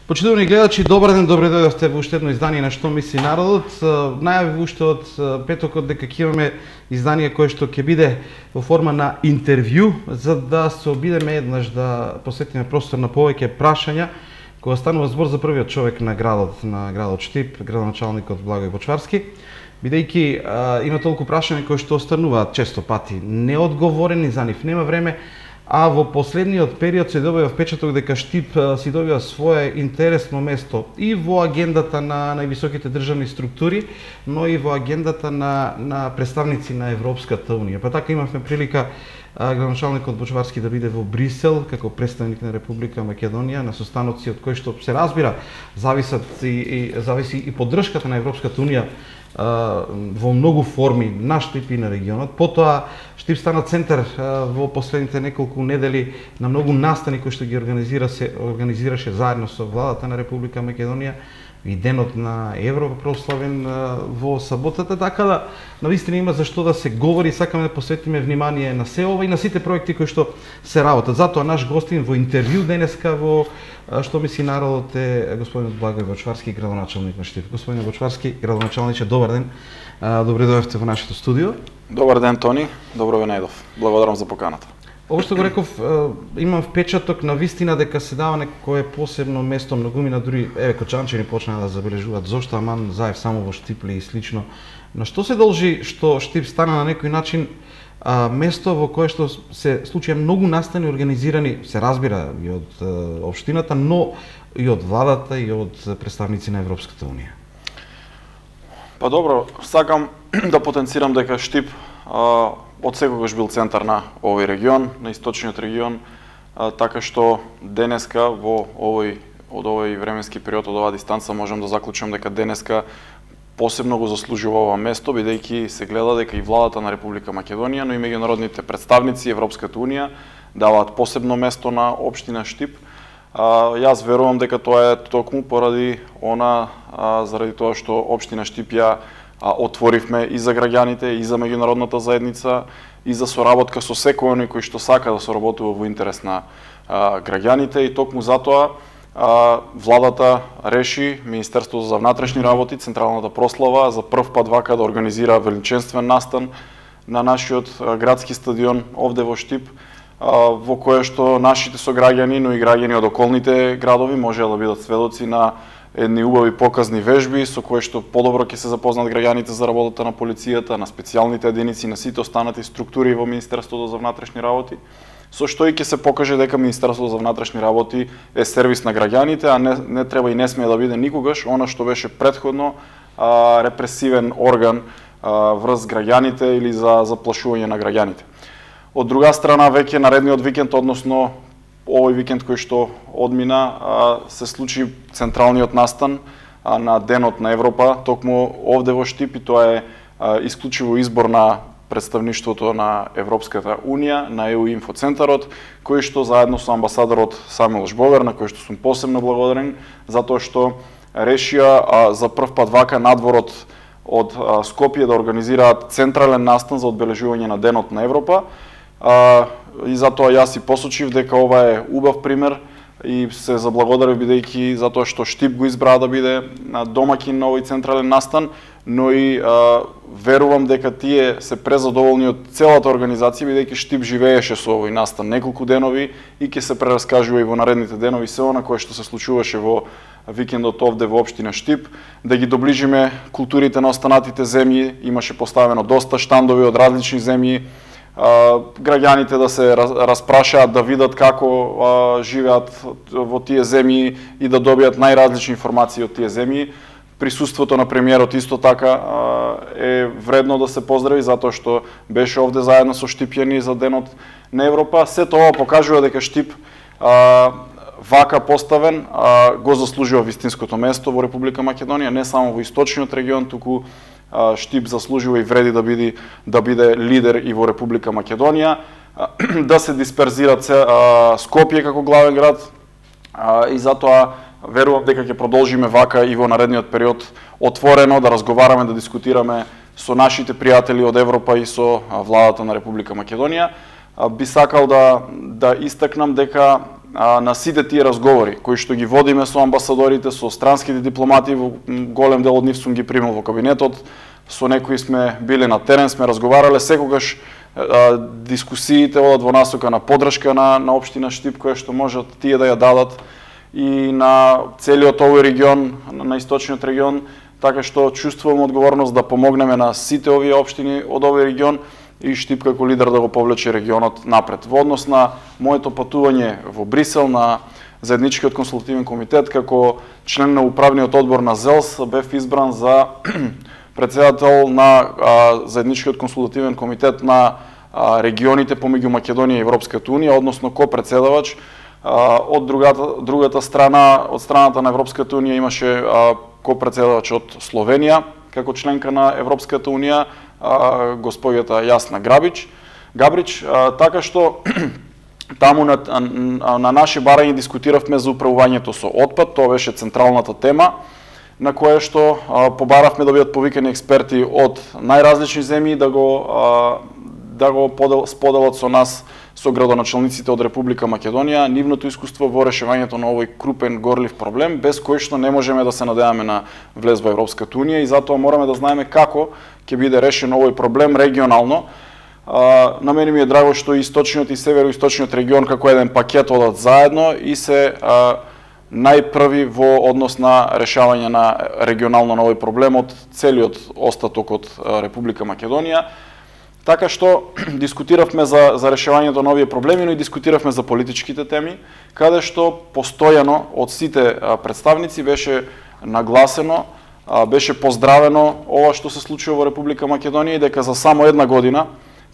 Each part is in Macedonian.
Почитувани гледачи, добар ден, добре дојдовте во уште едно издание на Што мисли народот. Најави уште од петокот дека ќе имаме издание кое што ќе биде во форма на интервју, за да се обидеме еднаш да посветиме простор на повеќе прашања, кога станува збор за првиот човек на градот Штип, градоначалникот Благој Бочварски, бидејќи има толку прашања кои што остануваат често пати неодговорени, за нив нема време. А во последниот период се добива впечаток дека Штип си добива свое интересно место и во агендата на највисоките државни структури, но и во агендата на представници на Европската Унија. Па така имавме прилика градоначалникот Бочварски да биде во Брисел како представник на Република Македонија на состаноци од кои што се разбира зависи и поддршката на Европската Унија во многу форми на Штип и на регионот. Потоа Штип стана центар во последните неколку недели на многу настани кои што ги организираше заедно со владата на Република Македонија и денот на Европа прославен во саботата, така да навистина има за што да се говори. Сакаме да посветиме внимание на се ова и на сите проекти кои што се работат. Затоа наш гостин во интервју денеска во Што мисли народот е господинот Благој Бочварски, градоначалник на Штип. Господине Бочварски, градоначалниче, добар ден. Добре дојдовте во нашето студио. Добар ден, Тони. Добро ве најдов. Благодарам за поканата. Ово што го реков, имам впечаток на вистина дека се дава некое посебно место, многумина дури кочанчени почнаа да забележуваат зошто аман заев само во Штип и слично. На што се должи што Штип стана на некој начин место во кое што се случија многу настани организирани, се разбира и од општината, но и од владата и од представници на Европската Унија? Па добро, сакам да потенцирам дека Штип од секогаш бил центар на овој регион, на источниот регион, така што денеска од овој временски период, од оваа дистанца, можам да заклучам дека денеска посебно го заслужува ова место, бидејќи се гледа дека и владата на Република Македонија, но и меѓународните представници, Европската Унија, даваат посебно место на општина Штип. Јас верувам дека тоа е токму поради заради тоа што општина Штип ја отворивме и за граѓаните, и за меѓународната заедница, и за соработка со секој оној кој што сака да соработува во интерес на граѓаните, и токму затоа владата реши, Министерството за внатрешни работи, централната прослава за прв пат вака да организира величествен настан на нашиот градски стадион овде во Штип, во кое што нашите сограѓани, но и граѓани од околните градови можеа да бидат сведоци на едни убави показни вежби со кои што подобро ќе се запознат граѓаните за работата на полицијата, на специјалните единици, на сите останати структури во Министерството за внатрешни работи, со што и ќе се покаже дека Министерството за внатрешни работи е сервис на граѓаните, а не треба и не смее да биде никогаш она што беше претходно репресивен орган врз граѓаните или за заплашување на граѓаните. Од друга страна, веќе наредниот викенд, односно овој викенд кој што одмина, се случи централниот настан на Денот на Европа, токму овде во Штип, и тоа е исклучиво избор на представништвото на Европската Унија, на ЕУ инфоцентарот, кој што заедно со амбасадорот Самуел Жбогар, на кој што сум посебно благодарен, затоа што решија за прв пат вака надворот од Скопје да организираат централен настан за одбележување на Денот на Европа. И затоа јас и посочив дека ова е убав пример и се заблагодарив бидејќи затоа што Штип го избраа да биде домаќин на овој централен настан, но и верувам дека тие се презадоволни од целата организација бидејќи Штип живееше со овој настан неколку денови и ќе се прераскажува и во наредните денови се она кое што се случуваше во викендот овде во општина Штип, да ги доближиме културите на останатите земји. Имаше поставено доста штандови од различни земји, граѓаните да се распрашаат, да видат како живеат во тие земји и да добијат најразлични информации од тие земји. Присуството на премиерот исто така е вредно да се поздрави, затоа што беше овде заедно со штипјани за Денот на Европа. Сето ова покажува дека Штип вака поставен го заслужува вистинското место во Република Македонија, не само во источниот регион, туку Штип заслужува и вреди да биде лидер и во Република Македонија, да се дисперзира Скопје како главен град, и затоа верувам дека ќе продолжиме вака и во наредниот период отворено да разговараме, да дискутираме со нашите пријатели од Европа и со владата на Република Македонија. Би сакал да истакнам дека на сите тие разговори кои што ги водиме со амбасадорите, со странските дипломати, голем дел од нив сум ги примил во кабинетот, со некои сме биле на терен, сме разговарале, секогаш дискусиите одат во насока на поддршка на општина Штип, која што можат тие да ја дадат и на целиот овој регион, на источниот регион, така што чувствувам одговорност да помогнеме на сите овие општини од овој регион и Штип како лидер да го повлече регионот напред. Во однос на моето патување во Брисел на заедничкиот консултативен комитет, како член на управниот одбор на ЗЕЛС, бев избран за председател на заедничкиот консултативен комитет на регионите помеѓу Македонија и Европската унија, односно ко-председавач. Од другата страна, од страната на Европската унија имаше ко-председавач од Словенија, како членка на Европската унија, господјата Јасна Габрич, така што таму на наши барања дискутиравме за управувањето со отпад, тоа беше централната тема, на која што побаравме да бидат повикани експерти од најразлични земји да го споделат со нас, со градоначалниците од Република Македонија, нивното искуство во решавањето на овој крупен горлив проблем, без кој што не можеме да се надеваме на влез во Европската унија и затоа мораме да знаеме како ќе биде решен овој проблем регионално. На мене ми е драго што и источниот и североисточниот регион како еден пакет одат заедно и се најпрви во однос на решавање на регионално на овој проблем од целиот остаток од Република Македонија. Така што дискутиравме за решавањето на овие проблеми, но и дискутиравме за политичките теми, каде што постојано од сите представници беше нагласено, беше поздравено ова што се случува во Република Македонија и дека за само една година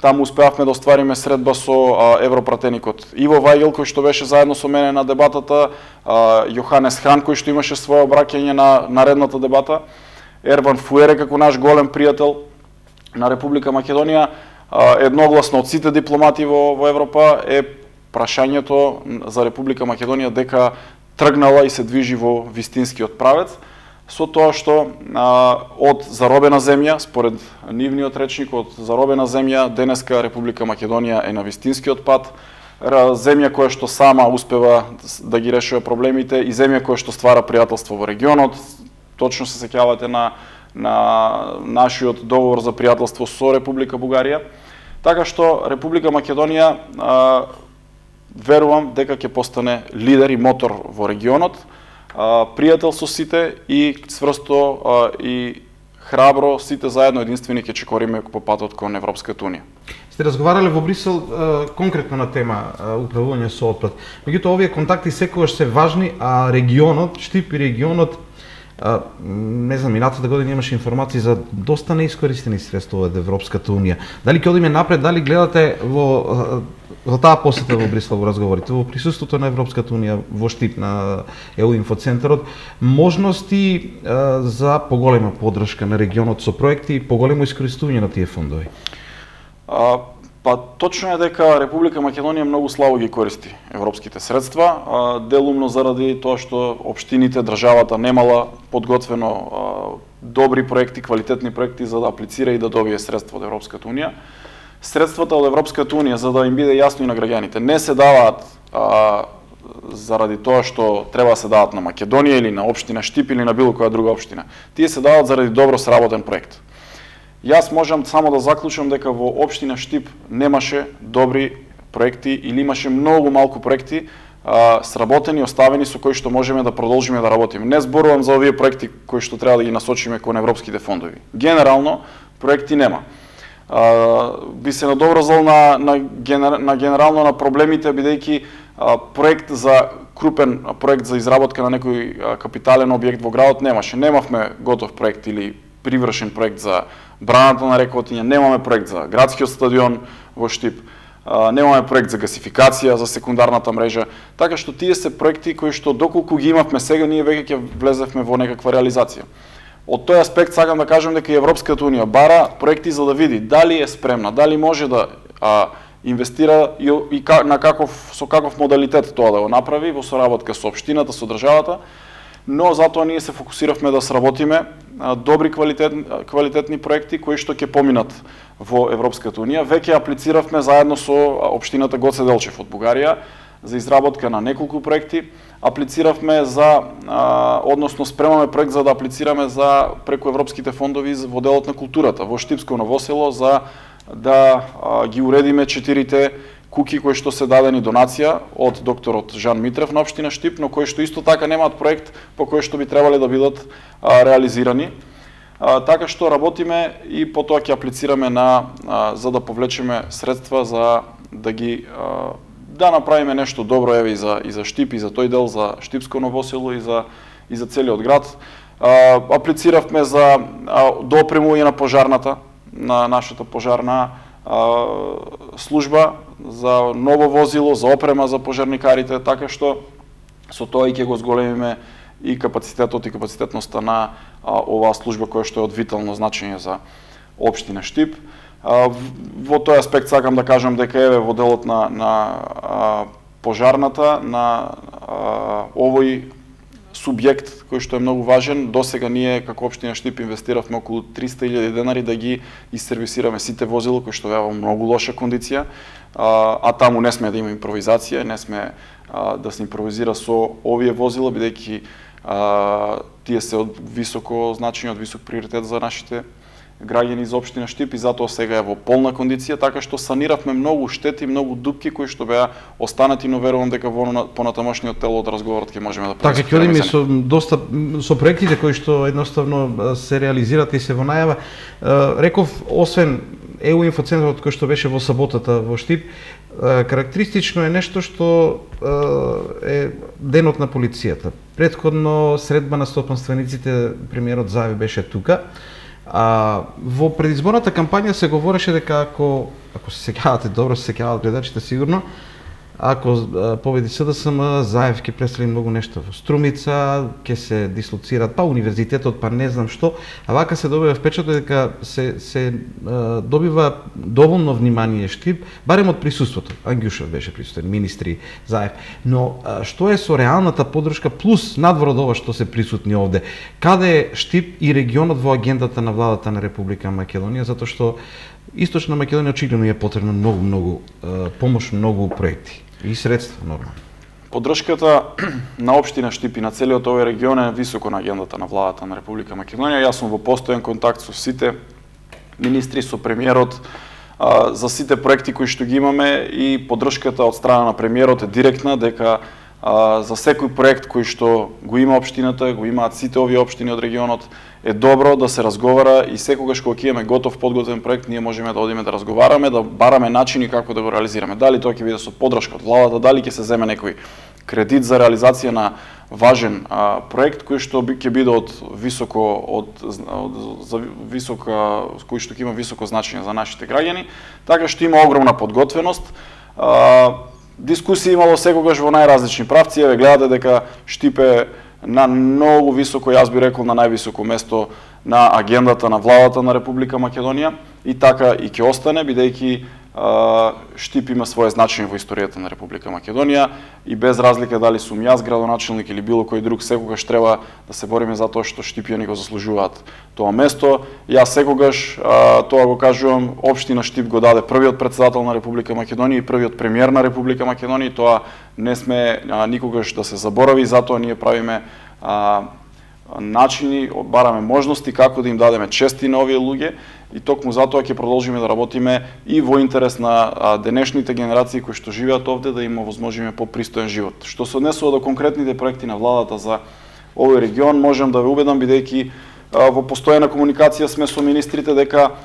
таму успеавме да оствариме средба со европратеникот Иво Вајгел, кој што беше заедно со мене на дебатата, Јоханес Хан, кој што имаше свое обраќање на наредната дебата, Ерван Фуере како наш голем пријател на Република Македонија, едногласно од сите дипломати во Европа е прашањето за Република Македонија дека тргнала и се движи во вистинскиот правец, со тоа што од заробена земја, според нивниот речник, од заробена земја, денеска Република Македонија е на вистинскиот пат, земја која што сама успева да ги решува проблемите и земја која што ствара пријателство во регионот. Точно се сеќавате на нашиот договор за пријателство со Република Бугарија. Така што Република Македонија верувам дека ќе постане лидер и мотор во регионот, пријател со сите и цврсто и храбро сите заедно единствени ќе чекориме по патот кон Европската унија. Сте разговарале во Брисел конкретно на тема управување со отпад. Меѓутоа овие контакти секогаш се важни, а регионот, Штип и регионот, не знам, минатата година имаше информации за доста неискористени средства од Европската унија. Дали ќе одиме напред, дали гледате во таа посета во Брисел во разговорите, во присуството на Европската унија во Штип на ЕУ инфоцентарот, можности за поголема поддршка на регионот со проекти и поголемо искористување на тие фондови? Па точно е дека Република Македонија многу слабо ги користи европските средства, делумно заради тоа што општините, државата немала подготвено добри проекти, квалитетни проекти за да аплицира и да добие средства од Европската унија. Средствата од Европската унија, за да им биде јасно и на граѓаните, не се даваат заради тоа што треба да се дават на Македонија или на општина Штип или на било која друга општина. Тие се даваат заради добро сработен проект. Јас можам само да заклучам дека во општина Штип немаше добри проекти или имаше многу малку проекти сработени, оставени со кои што можеме да продолжиме да работиме. Не зборувам за овие проекти кои што треба да ги насочиме кон европските фондови. Генерално проекти нема. Би се надоврзал на генерално на проблемите, бидејќи проект за крупен проект за изработка на некој капитален објект во градот немаше. Немавме готов проект или привршен проект за браната на река Отиња, немаме проект за градскиот стадион во Штип, немаме проект за гасификација, за секундарната мрежа, така што тие се проекти кои што доколку ги имавме сега, ние веќе ќе влезевме во некаква реализација. Од тој аспект сакам да кажам дека и Европската унија бара проекти за да види дали е спремна, дали може да инвестира и со каков модалитет тоа да го направи во соработка со општината, со државата, но затоа ние се фокусиравме да сработиме добри квалитетни проекти кои што ќе поминат во Европската унија. Веќе аплициравме заедно со општината Гоце Делчев од Бугарија за изработка на неколку проекти. Аплициравме за, односно спремаме проект за да аплицираме за преку европските фондови во делот на културата во Штипско Ново село за да ги уредиме 4 куки кои што се дадени донација од докторот Жан Митрев на општина Штип, но кои што исто така немаат проект по кој што би требале да бидат реализирани. Така што работиме и потоа ќе аплицираме за да повлечеме средства за да ги да направиме нешто добро еве и за Штип и за тој дел за Штипско Ново село и за целиот град. Аплициравме за допремување на пожарната, на нашата пожарна служба, за ново возило, за опрема за пожарникарите, така што со тоа и ќе го зголемиме и капацитетот и капацитетноста на оваа служба која што е од витално значење за општина Штип. Во тој аспект сакам да кажам дека еве во делот на пожарната, на овој субјект кој што е многу важен, досега ние како општина Штип инвестиравме околу 300.000 денари да ги исервисираме сите возила кои што беа во многу лоша кондиција, а таму не сме да има импровизација, не сме да се импровизира со овие возила, бидејќи тие се од високо значење, од висок приоритет за нашите граѓани за општина Штип и затоа сега е во полна кондиција, така што саниравме многу штети, многу дупки кои што беа останати, но верувам дека во понатамошниот тел од разговорот ќе можеме да така ќе одиме со доста со проектите кои што едноставно се реализираат и се во најава. Реков, освен ЕУ инфоцентарот кој што беше во саботата во Штип, карактеристично е нешто што е денот на полицијата. Претходно средба на стопанствениците, премиерот Заев беше тука. Во предизборната кампања се говореше дека ако се сеќавате добро, се сеќаваат гледачите сигурно, ако победи СДСМ, Заев ќе пресели многу нешто во Струмица, ќе се дислоцираат па универзитетот, па не знам што, а вака се добива впечаток дека се добива доволно внимание Штип, барем од присуството. Ангјушев беше присутен, министри, Заев. Но што е со реалната поддршка плюс надвор од ова што се присутни овде? Каде е Штип и регионот во агендата на владата на Република Македонија, затоа што Источна Македонија очигледно е потребно многу помош, многу проекти и средства нормално. Поддршката на општина Штип и на целиот овој регион е високо на агендата на владата на Република Македонија. Јас сум во постојан контакт со сите министри, со премиерот за сите проекти кои што ги имаме и поддршката од страна на премиерот е директна дека за секој проект кој што го има општината, го имаат сите овие општини од регионот, е добро да се разговара и секогаш кога ќе имаме готов подготвен проект, ние можеме да одиме да разговараме, да бараме начини како да го реализираме. Дали тоа ќе биде со поддршка од владата, дали ќе се земе некој кредит за реализација на важен проект кој што ќе биде од кој што ќе има високо значење за нашите граѓани, така што има огромна подготвеност. Дискусија имало секогаш во најразлични правци, еве гледате дека Штип е на многу високо, јас би рекол на највисоко место на агендата на владата на Република Македонија и така и ќе остане, бидејќи Штип има свое значење во историјата на Република Македонија и без разлика дали сум јас градоначелник или било кој друг, секогаш треба да се бориме за тоа што Штипјани го заслужуваат тоа место. Јас секогаш тоа го кажувам, општина Штип го даде првиот претседател на Република Македонија и првиот премиер на Република Македонија, тоа не сме никогаш да се заборави, затоа ние правиме начини, бараме можности како да им дадеме чести на овие луѓе и токму затоа ќе продолжиме да работиме и во интерес на денешните генерации кои што живеат овде да им овозможиме попристоен живот. Што се однесува до конкретните проекти на владата за овој регион, можам да ве убедам бидејќи во постојана комуникација сме со министрите дека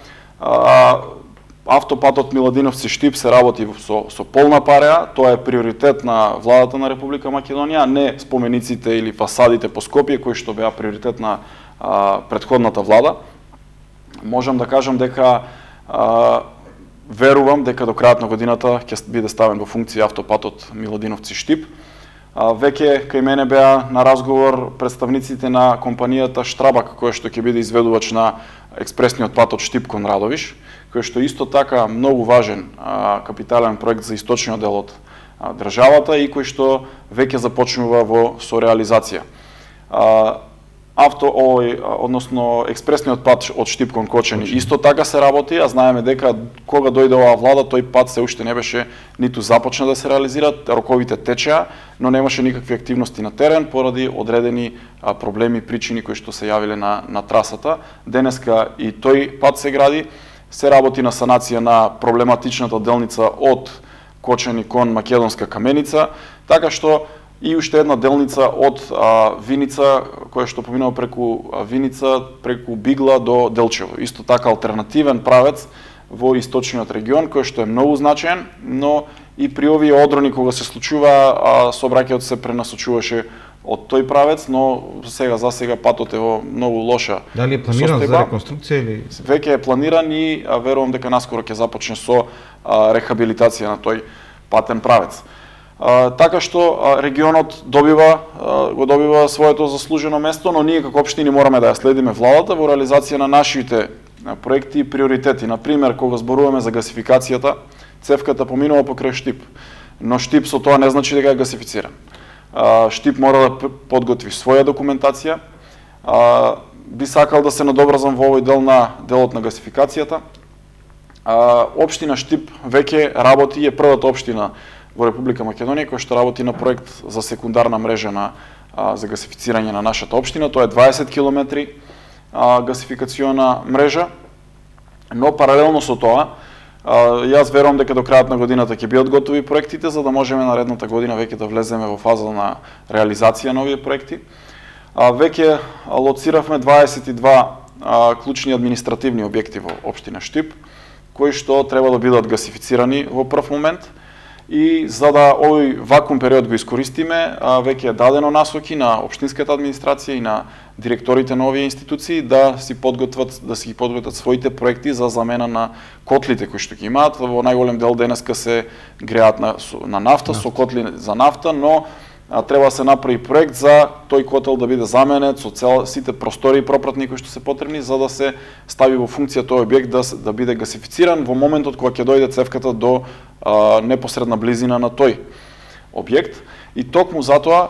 автопатот Миладиновци Штип се работи со полна пареа, тоа е приоритет на владата на Република Македонија, не спомениците или фасадите по Скопје кои што беа приоритет на претходната влада. Можам да кажам дека верувам дека до крајот на годината ќе биде ставен во функција автопатот Миладиновци Штип. Веќе кај мене беа на разговор представниците на компанијата Штрабак, која што ќе биде изведувач на експресниот пат од Штип кон Радовиш, кој што исто така многу важен капитален проект за источниот дел од државата и кој што веќе започнува со реализација. односно експресниот пат од Штип кон Кочани исто така се работи, а знаеме дека кога дојде оваа влада, тој пат се уште не беше ниту започна да се реализира, роковите течеа, но немаше никакви активности на терен поради одредени проблеми, причини кои што се јавиле на трасата. Денеска и тој пат се гради, се работи на санација на проблематичната делница од Кочани кон Македонска Каменица, така што и уште една делница од Виница, која што поминува преку Виница, преку Бигла до Делчево. Исто така алтернативен правец во источниот регион, кој што е многу значаен, но и при овие одрони кога се случува, сообраќајот се пренасочуваше од тој правец, но за сега патот е во многу лоша. Дали е планиран за реконструкција или? Веќе е планиран и верувам дека наскоро ќе започне со рехабилитација на тој патен правец. Така што регионот го добива своето заслужено место, но ние како општини мораме да ја следиме владата во реализација на нашите проекти и приоритети. Например, кога зборуваме за гасификацијата, цевката поминува покрај Штип, но Штип со тоа не значи дека е гасифициран. Штип мора да подготви своја документација. Би сакал да се надобрзам во овој делот на гасификацијата. Општина Штип веќе работи, е првата општина во Република Македонија која што работи на проект за секундарна мрежа за гасифицирање на нашата општина. Тоа е 20 километри гасификациона мрежа, но паралелно со тоа, јас верувам дека до крајот на годината ќе бидат готови проектите, за да можеме наредната година веќе да влеземе во фаза на реализација на овие проекти. Веќе лоциравме 22 клучни административни објекти во општина Штип, кои што треба да бидат гасифицирани во прв момент. И за да овој вакуум период го искористиме, веќе е дадено насоки на општинската администрација и на директорите на овие институции да си подготват своите проекти за замена на котлите кои што ги имаат. Во најголем дел денеска се греат на нафта, со котли за нафта, но треба да се направи проект за тој котел да биде заменет со сите простори и пропратни кои што се потребни за да се стави во функција тој објект да биде гасифициран во моментот кога ќе дојде цевката до непосредна близина на тој објект. И токму затоа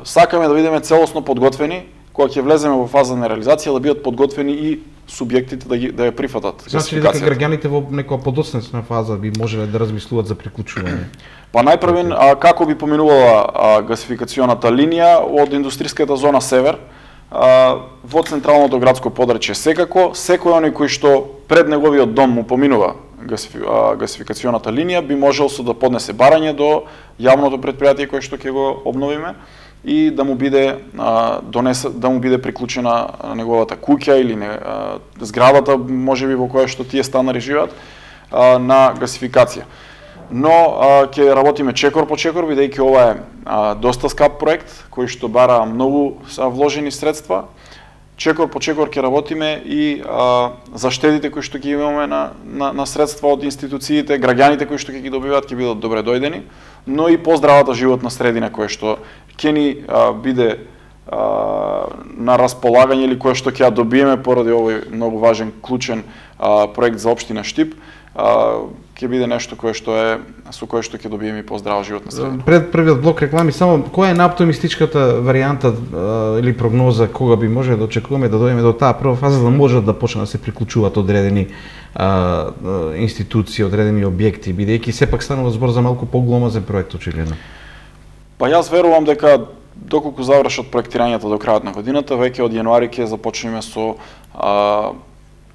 сакаме да бидеме целосно подготвени кога ќе влеземе во фаза на реализација, да бидат подготвени и субјектите да ја прифатат. Значи ли дека граѓаните во некоја подоцнесна фаза би можеле да размислуваат за приклучување? Па најпрвен, како би поминувала гасификационата линија од индустријската зона Север во централното градско подрачје секако, секој оној кој што пред неговиот дом му поминува гасификационата линија би можел да поднесе барање до јавното претпријатие кое што ќе го обновиме и да му биде приклучена неговата куќа или зградата можеби во која што тие станари живеат на гасификација. Но ќе работиме чекор по чекор, бидејќи ова е доста скап проект кој што бара многу вложени средства. Чекор по чекор ќе работиме и за штедите кои што ги имаме на средства од институциите, граѓаните кои што ќе ги добиваат ќе бидат добре дојдени, но и поздравата животна средина која што ќе ни биде на располагање или која што ќе ја добиеме поради овој многу важен клучен проект за општина Штип, ќе биде нешто со кое што ќе добиеме и поздрава животна средина. Пред првиот блок реклами, само која е најоптимистичката варијанта или прогноза кога би можеле да очекуваме да дојдеме до таа прва фаза да можат да почнат да се приклучуваат одредени институции, одредени објекти, бидејќи сепак станува збор за малку погломазен проект очигледно? Па јас верувам дека доколку завршат проектирањето до крајот на годината, веќе од јануари ќе започнеме со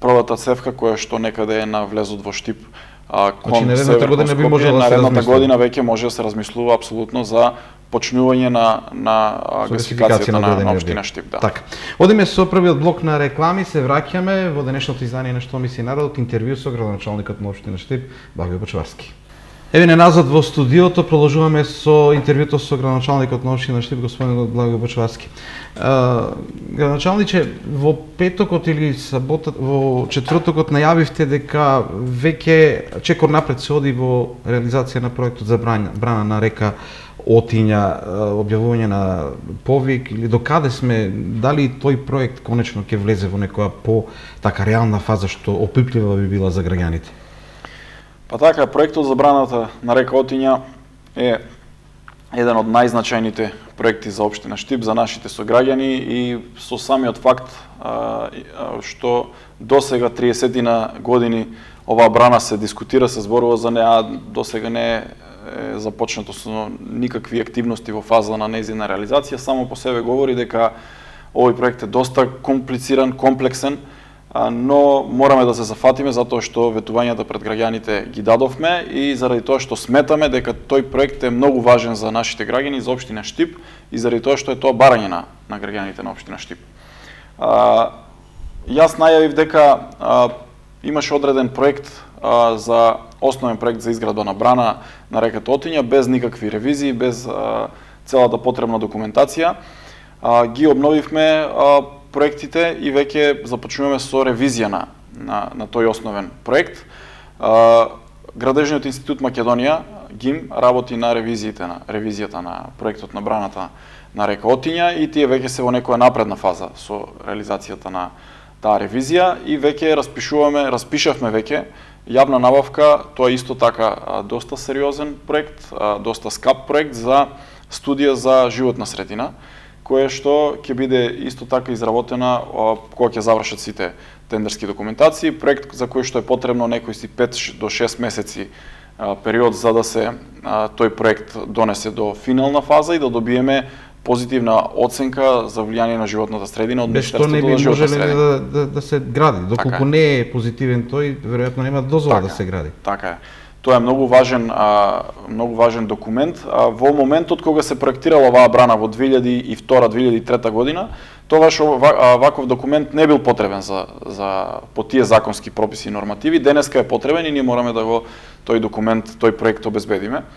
првата цевка која што некаде е на влезот во Штип кон Северно Скопје. Наредната година веќе може да се размислува апсолутно за почнување на гасификацијата на општина Штип. Така. Одиме со првиот блок на реклами, се враќаме во денешното издание на Што мисли народот, интервју со градоначалникот на општина Штип, Благој Бочварски. Еве не назад во студиото, продолжуваме со интервјуто со градоначалникот на општина Штип, господин Благој Бочварски. Градоначалниче, во петокот или во четвртокот најавивте дека веќе чекор напред се оди во реализација на проектот за брана на река Отиња, објавување на повик или докаде сме, дали тој проект конечно ќе влезе во некоја така реална фаза што опиплива би била за граѓаните? Па така, проектот за браната на река Отиња е еден од најзначајните проекти за општина Штип, за нашите сограѓани и со самиот факт што досега 30 години оваа брана се дискутира, се зборува за неа, досега не е започнато со никакви активности во фаза на нејзина реализација, само по себе говори дека овој проект е доста комплициран, комплексен, но мораме да се зафатиме затоа што ветувањата пред граѓаните ги дадовме и заради тоа што сметаме дека тој проект е многу важен за нашите граѓани, за општина Штип и заради тоа што е тоа барање на граѓаните на општина Штип. Јас најавив дека имаше одреден проект за основен проект за изградба на брана на реката Отиња без никакви ревизии, без целата потребна документација. Ги обновивме проектите и веќе започнуваме со ревизија на тој основен проект. Градежниот институт Македонија, ГИМ, работи на ревизијата на проектот на браната на река Отиња и тие веќе се во некоја напредна фаза со реализацијата на таа ревизија и веќе распишавме веќе јавна набавка, тоа исто така доста сериозен проект, доста скап проект за студија за животна средина, која што ќе биде исто така изработена кога ќе завршат сите тендерски документации, проект за кој што е потребно некои 5 до 6 месеци период за да се тој проект донесе до финална фаза и да добиеме позитивна оценка за влијание на животната средина од Министерството за животна средина. Што не би можеле да се гради, доколку не е позитивен тој, веројатно нема дозвола да се гради. Така е. Тоа е многу важен документ. Во моментот кога се проектирала оваа брана во 2002-2003 година, тогаш ваков документ не бил потребен по тие законски прописи и нормативи. Денеска е потребен и ние мораме да го тој проект обезбедиме.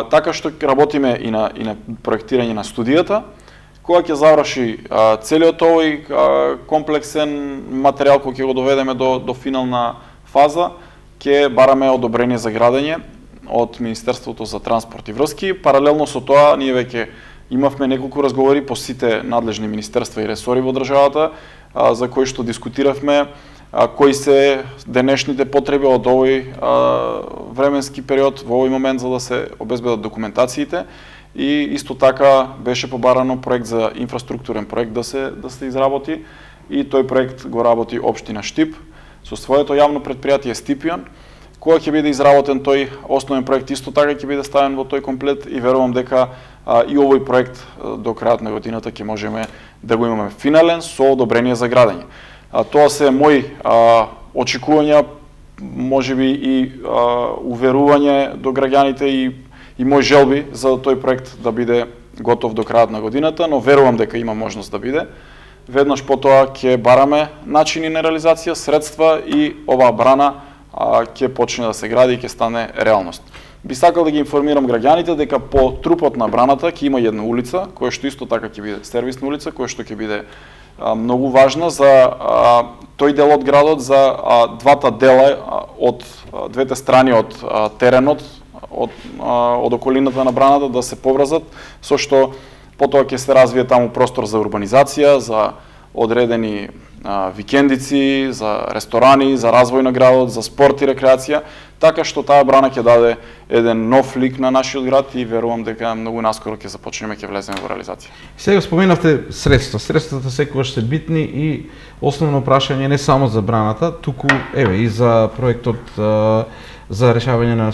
Така што работиме и на проектирање на студијата, кога ќе заврши целиот овој комплексен материјал кој ќе го доведеме до финална фаза, ќе бараме одобрение за градење од Министерството за транспорт и врски. Паралелно со тоа, ние веќе имавме неколку разговори по сите надлежни министерства и ресори во државата, за кои што дискутиравме кои се денешните потреби од овој временски период во овој момент за да се обезбедат документациите и исто така беше побарано проект за инфраструктурен проект да се изработи и тој проект го работи општина Штип со своето јавно претпријатие Стипион. Кога ќе биде изработен тој основен проект, исто така ќе биде ставен во тој комплет и верувам дека и овој проект до крајот на годината ќе можеме да го имаме финален со одобрение за градење. Тоа се мои очекувања, можеби и уверување до граѓаните и мои желби за тој проект да биде готов до крајот на годината, но верувам дека има можност да биде. Веднаш потоа ќе бараме начини на реализација, средства и оваа брана ќе почне да се гради и ќе стане реалност. Би сакал да ги информирам граѓаните дека по трупот на браната ќе има една улица, која што исто така ќе биде сервисна улица, која што ќе биде многу важна за тој дел од градот, за двата дела од двете страни од теренот, од околината на браната да се поврзат, со што потоа ќе се развие таму простор за урбанизација, за одредени викендици, за ресторани, за развој на градот, за спорт и рекреација, така што таа брана ќе даде еден нов лик на нашиот град и верувам дека многу наскоро ќе започнеме, ќе влеземе во реализација. Сега споменавте средства. Средствата секогаш се битни и основно прашање не само за браната, туку и за проектот за решавање на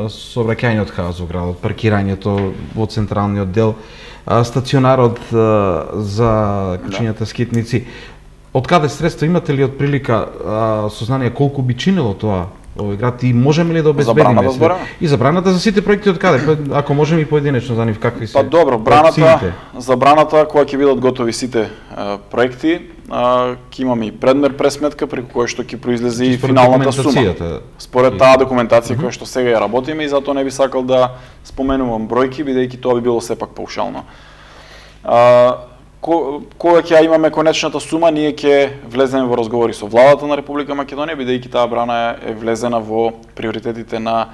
сообраќајниот хаос во градот, паркирањето во централниот дел, стационарот за кучињата скитници. Од каде средства имате ли од прилика сознание колку би чинило тоа овој град и можеме ли да обезбедиме и за браната за сите проекти од каде? Ако можеме и поединечно за нив какви се? Добро, за браната кога ќе бидат готови сите проекти, ќе имаме и предмер пресметка преку која што ќе произлезе и финалната сума. Според таа документација која што сега ја работиме и затоа не би сакал да споменувам бројки бидејќи тоа би било сепак паушално. Кога ќе имаме конечната сума, ние ќе влеземе во разговори со владата на Република Македонија, бидејќи таа брана е влезена во приоритетите на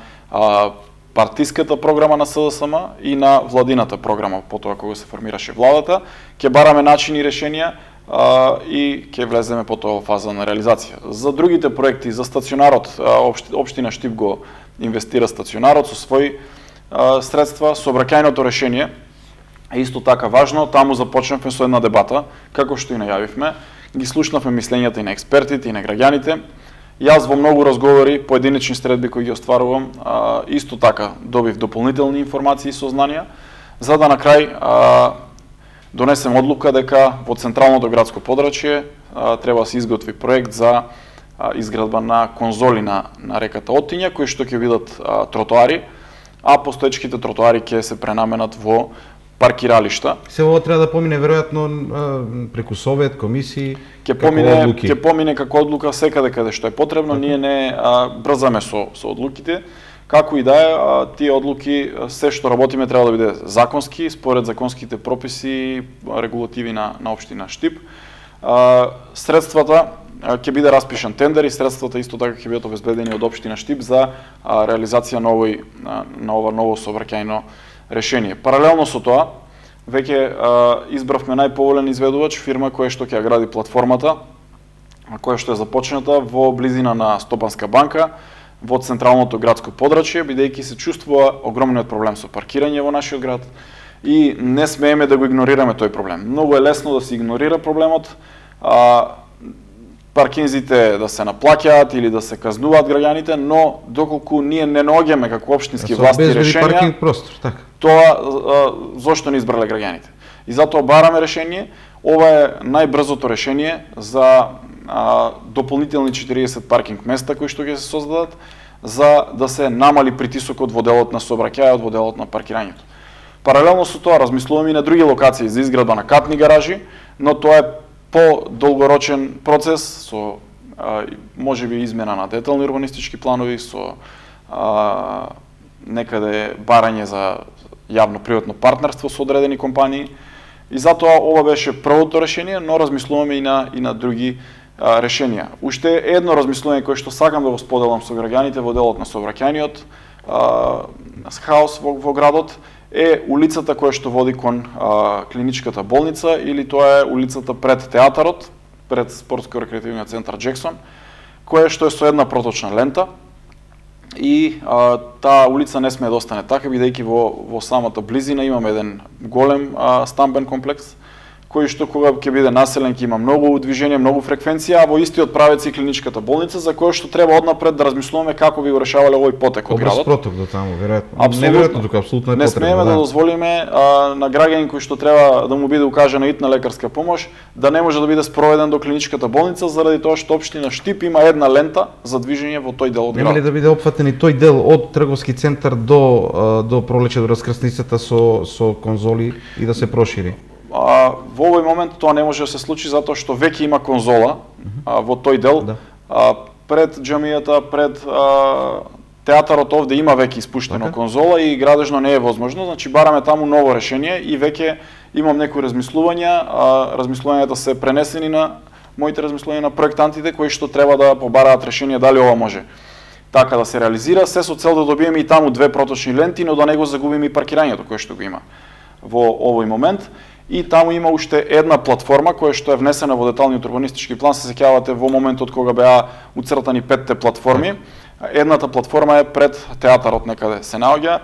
партиската програма на СДСМ и на владината програма, потоа кога се формираше владата. Ќе бараме начини и решенија и ќе влеземе потоа во фаза на реализација. За другите проекти, за стационарот, општина Штип го инвестира стационарот со своји средства, сообраќајното решение Исто така важно, таму започнавме со една дебата, како што и најавивме, ги слушнавме мислењата и на експертите и на граѓаните. Јас во многу разговори, поединечни средби кои ги остварувам, исто така добив дополнителни информации и сознанија, за да на крај донесем одлука дека во централното градско подрачје треба да се изготви проект за изградба на конзоли на реката Отиња, кои што ќе бидат тротоари, а постоечките тротоари ќе се пренаменат во паркиралишта. Се ова треба да помине веројатно преку совет, комисии, ќе помине како одлука секаде каде што е потребно, ние не брзаме со одлуките. Како и да е, тие одлуки, се што работиме треба да биде законски, според законските прописи, регулативи на општина Штип. Средствата ќе биде распишан тендер и средствата исто така ќе бидат обезбедени од општина Штип за реализација на ова ново сообраќајно решение. Паралелно со тоа, веќе избравме најповолен изведувач, фирма која што ќе гради платформата, која што е започната во близина на Стопанска банка, во централното градско подрачје, бидејќи се чувствува огромниот проблем со паркирање во нашиот град и не смееме да го игнорираме тој проблем. Многу е лесно да се игнорира проблемот, паркинзите да се наплаќаат или да се казнуваат граѓаните, но доколку ние не наоѓаме како општински власти решенија, паркинг простор, така. Тоа зошто не избрале граѓаните. И затоа бараме решение. Ова е најбрзото решение за дополнителни 40 паркинг места кои што ќе се создадат, за да се намали притисокот во делот на сообраќајот, во делот на паркирањето. Паралелно со тоа размислуваме и на други локации за изградба на катни гаражи, но тоа е по-долгорочен процес со можеби измена на детални урбанистички планови, со некаде барање за јавно-приватно партнерство со одредени компании. И затоа ова беше првото решение, но размислуваме и на други решенија. Уште едно размислување кое што сакам да го споделам со граѓаните во делот на сообраќајниот хаос во градот е улицата која што води кон клиничката болница, или тоа е улицата пред театарот, пред спортско-рекреативниот центар Джексон, која што е со една проточна лента. И таа улица не смее да остане така, бидејќи во самата близина имаме еден голем стамбен комплекс, кој што кога ќе биде населен ќе има многу движење, многу фреквенција, а во истиот правец и клиничката болница, за која што треба однапред да размислуваме како би го решавале овој потек од градот. Проток до таму, веројатно. Неверојатно тука, апсолутно е потребно. Не смееме да дозволиме на граѓанин кој што треба да му биде укажана итна лекарска помош, да не може да биде спроведен до клиничката болница заради тоа што општина Штип има една лента за движење во тој дел од градот. Нема ли да биде опфатен и тој дел од трговски центар до пролече до раскрсницата со конзоли и да се прошири? Во овој момент тоа не може да се случи затоа што веќе има конзола во тој дел. Пред џамијата, пред театарот овде има веќе испуштена конзола и градежно не е возможно, значи бараме таму ново решение и веќе имам некои размислувања, размислувањата се пренесени на моите размислувања на проектантите кои што треба да побараат решение дали ова може така да се реализира, се со цел да добиеме и таму две проточни ленти, но да не го загубиме и паркирањето кое што го има во овој момент. И таму има уште една платформа која што е внесена во деталниот урбанистички план, се сеќавате во моментот кога беа уцртани 5 платформи. Едната платформа е пред театарот некаде се наоѓа,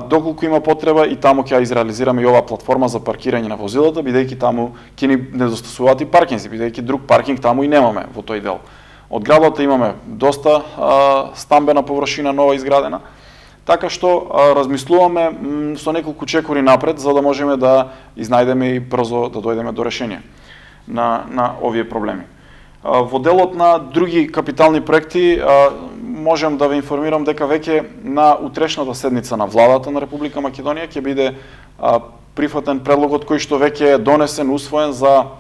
доколку има потреба и таму ќе ја изреализираме и оваа платформа за паркирање на возилата, бидејќи таму ќе ни недостасуваат и паркинзи, бидејќи друг паркинг таму и немаме во тој дел. Од градот имаме доста стамбена површина нова изградена. Така што размислуваме со неколку чекори напред за да можеме да изнајдеме и брзо да дојдеме до решение на овие проблеми. Во делот на други капитални проекти можем да ве информирам дека веќе на утрешната седница на владата на Република Македонија ќе биде прифатен предлогот кој што веќе е донесен, усвоен за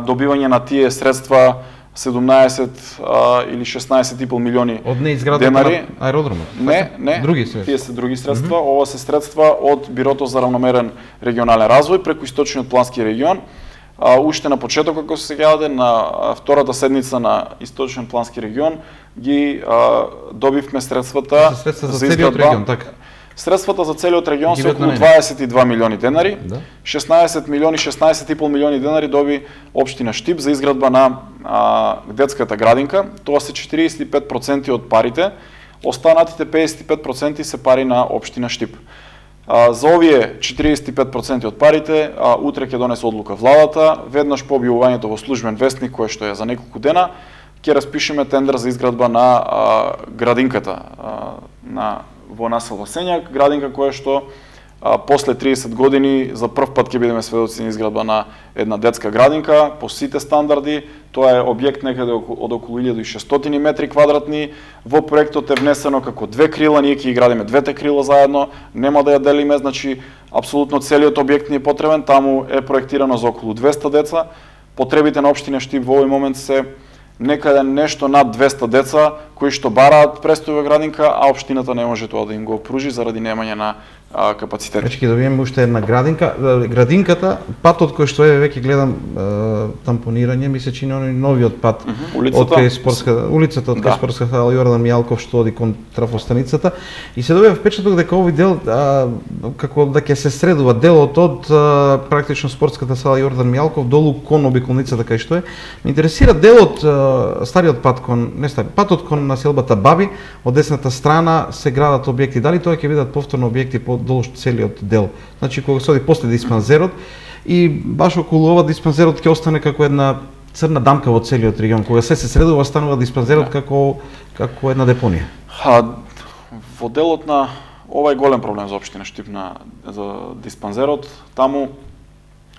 добивање на тие средства 17 или 16,5 милиони од неизградата на аеродромот. Не, други средства. Тие се други средства. Ова се средства од Бирото за равномерен регионален развој преку Источниот плански регион. Уште на почеток, како се сеќавате, на втората седница на Источен плански регион ги добивме средствата за целиот регион, така. Средствата за целиот регион се околу 22 милиони денари. 16 милиони, 16,5 милиони денари доби општина Штип за изградба на детската градинка. Тоа се 45% од парите. Останатите 55% се пари на општина Штип. За овие 45% од парите, утре ќе донесе одлука владата, веднаш по објавувањето во службен вестник, кое што е за неколку дена, ќе распишеме тендер за изградба на градинката во населба Сењак, градинка која што после 30 години за прв пат ќе бидеме сведоци на изградба на една детска градинка по сите стандарди. Тоа е објект некаде од околу 1600 метри квадратни. Во проектот е внесено како две крила, ние ќе ги градиме двете крила заедно, нема да ја делиме, значи апсолутно целиот објект ни е потребен, таму е проектирано за околу 200 деца. Потребите на општина Штип во овој момент се некаде нешто над 200 деца кои што бараат престој во градинка, а општината не може тоа да им го пружи заради немање на капацитет. Веќе ќе добиеме уште една градинка. Градинката, патот кој што е, веќе гледам тампонирање, ми се чини оној новиот пат од кај улицата од кај спортска сала Јордан Мијалков што оди кон трафостаницата, и се добива впечаток дека овој дел како да ќе се средува делот од практично спортската сала Јордан Мијалков долу кон обиколницата кај што е. Ме интересира делот стариот пат кон патот кон населбата Баби, од десната страна се градат објекти. Дали тоа ќе бидат повторно објекти по долж целиот дел? Значи кога се оди после диспансерот и баш околу ова диспансерот ќе остане како една црна дамка во целиот регион. Кога се средува, станува диспансерот како една депонија. Во делот на ова е голем проблем за општина Штип за диспансерот. Таму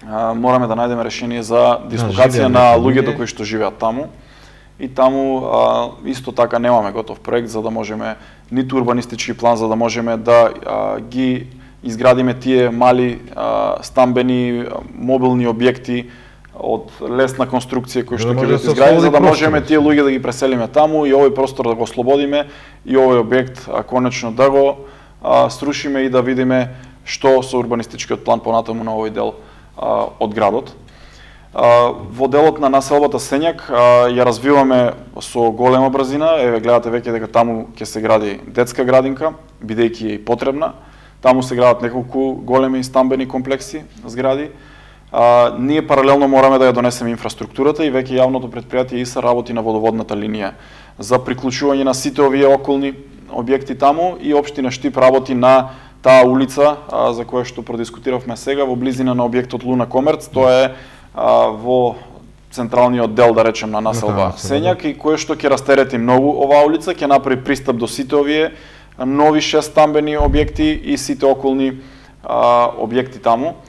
мораме да најдеме решение за дислокација на луѓето кои што живеат таму. И таму исто така немаме готов проект за да можеме, ниту урбанистички план за да можеме да ги изградиме тие мали стамбени мобилни објекти од лесна конструкција кои што ќе бидат изградени за да можеме тие луѓе да ги преселиме таму и овој простор да го ослободиме и овој објект конечно да го срушиме и да видиме што со урбанистичкиот план понатаму на овој дел од градот. Во делот на населбата Сењак ја развиваме со голема брзина. Еве гледате веќе дека таму ќе се гради детска градинка, бидејќи е и потребна. Таму се градат неколку големи стамбени комплекси, згради. Ние паралелно мораме да ја донесеме инфраструктурата и веќе јавното претпријатие ИСА работи на водоводната линија за приклучување на сите овие околни објекти таму и општина Штип работи на таа улица за која што продискутиравме сега во близина на објектот Луна Комерц. Тоа е во централниот дел, да речем, на населба Сењак и кое што ќе растерети многу оваа улица, ќе направи пристап до сите овие нови 6 стамбени објекти и сите околни објекти таму.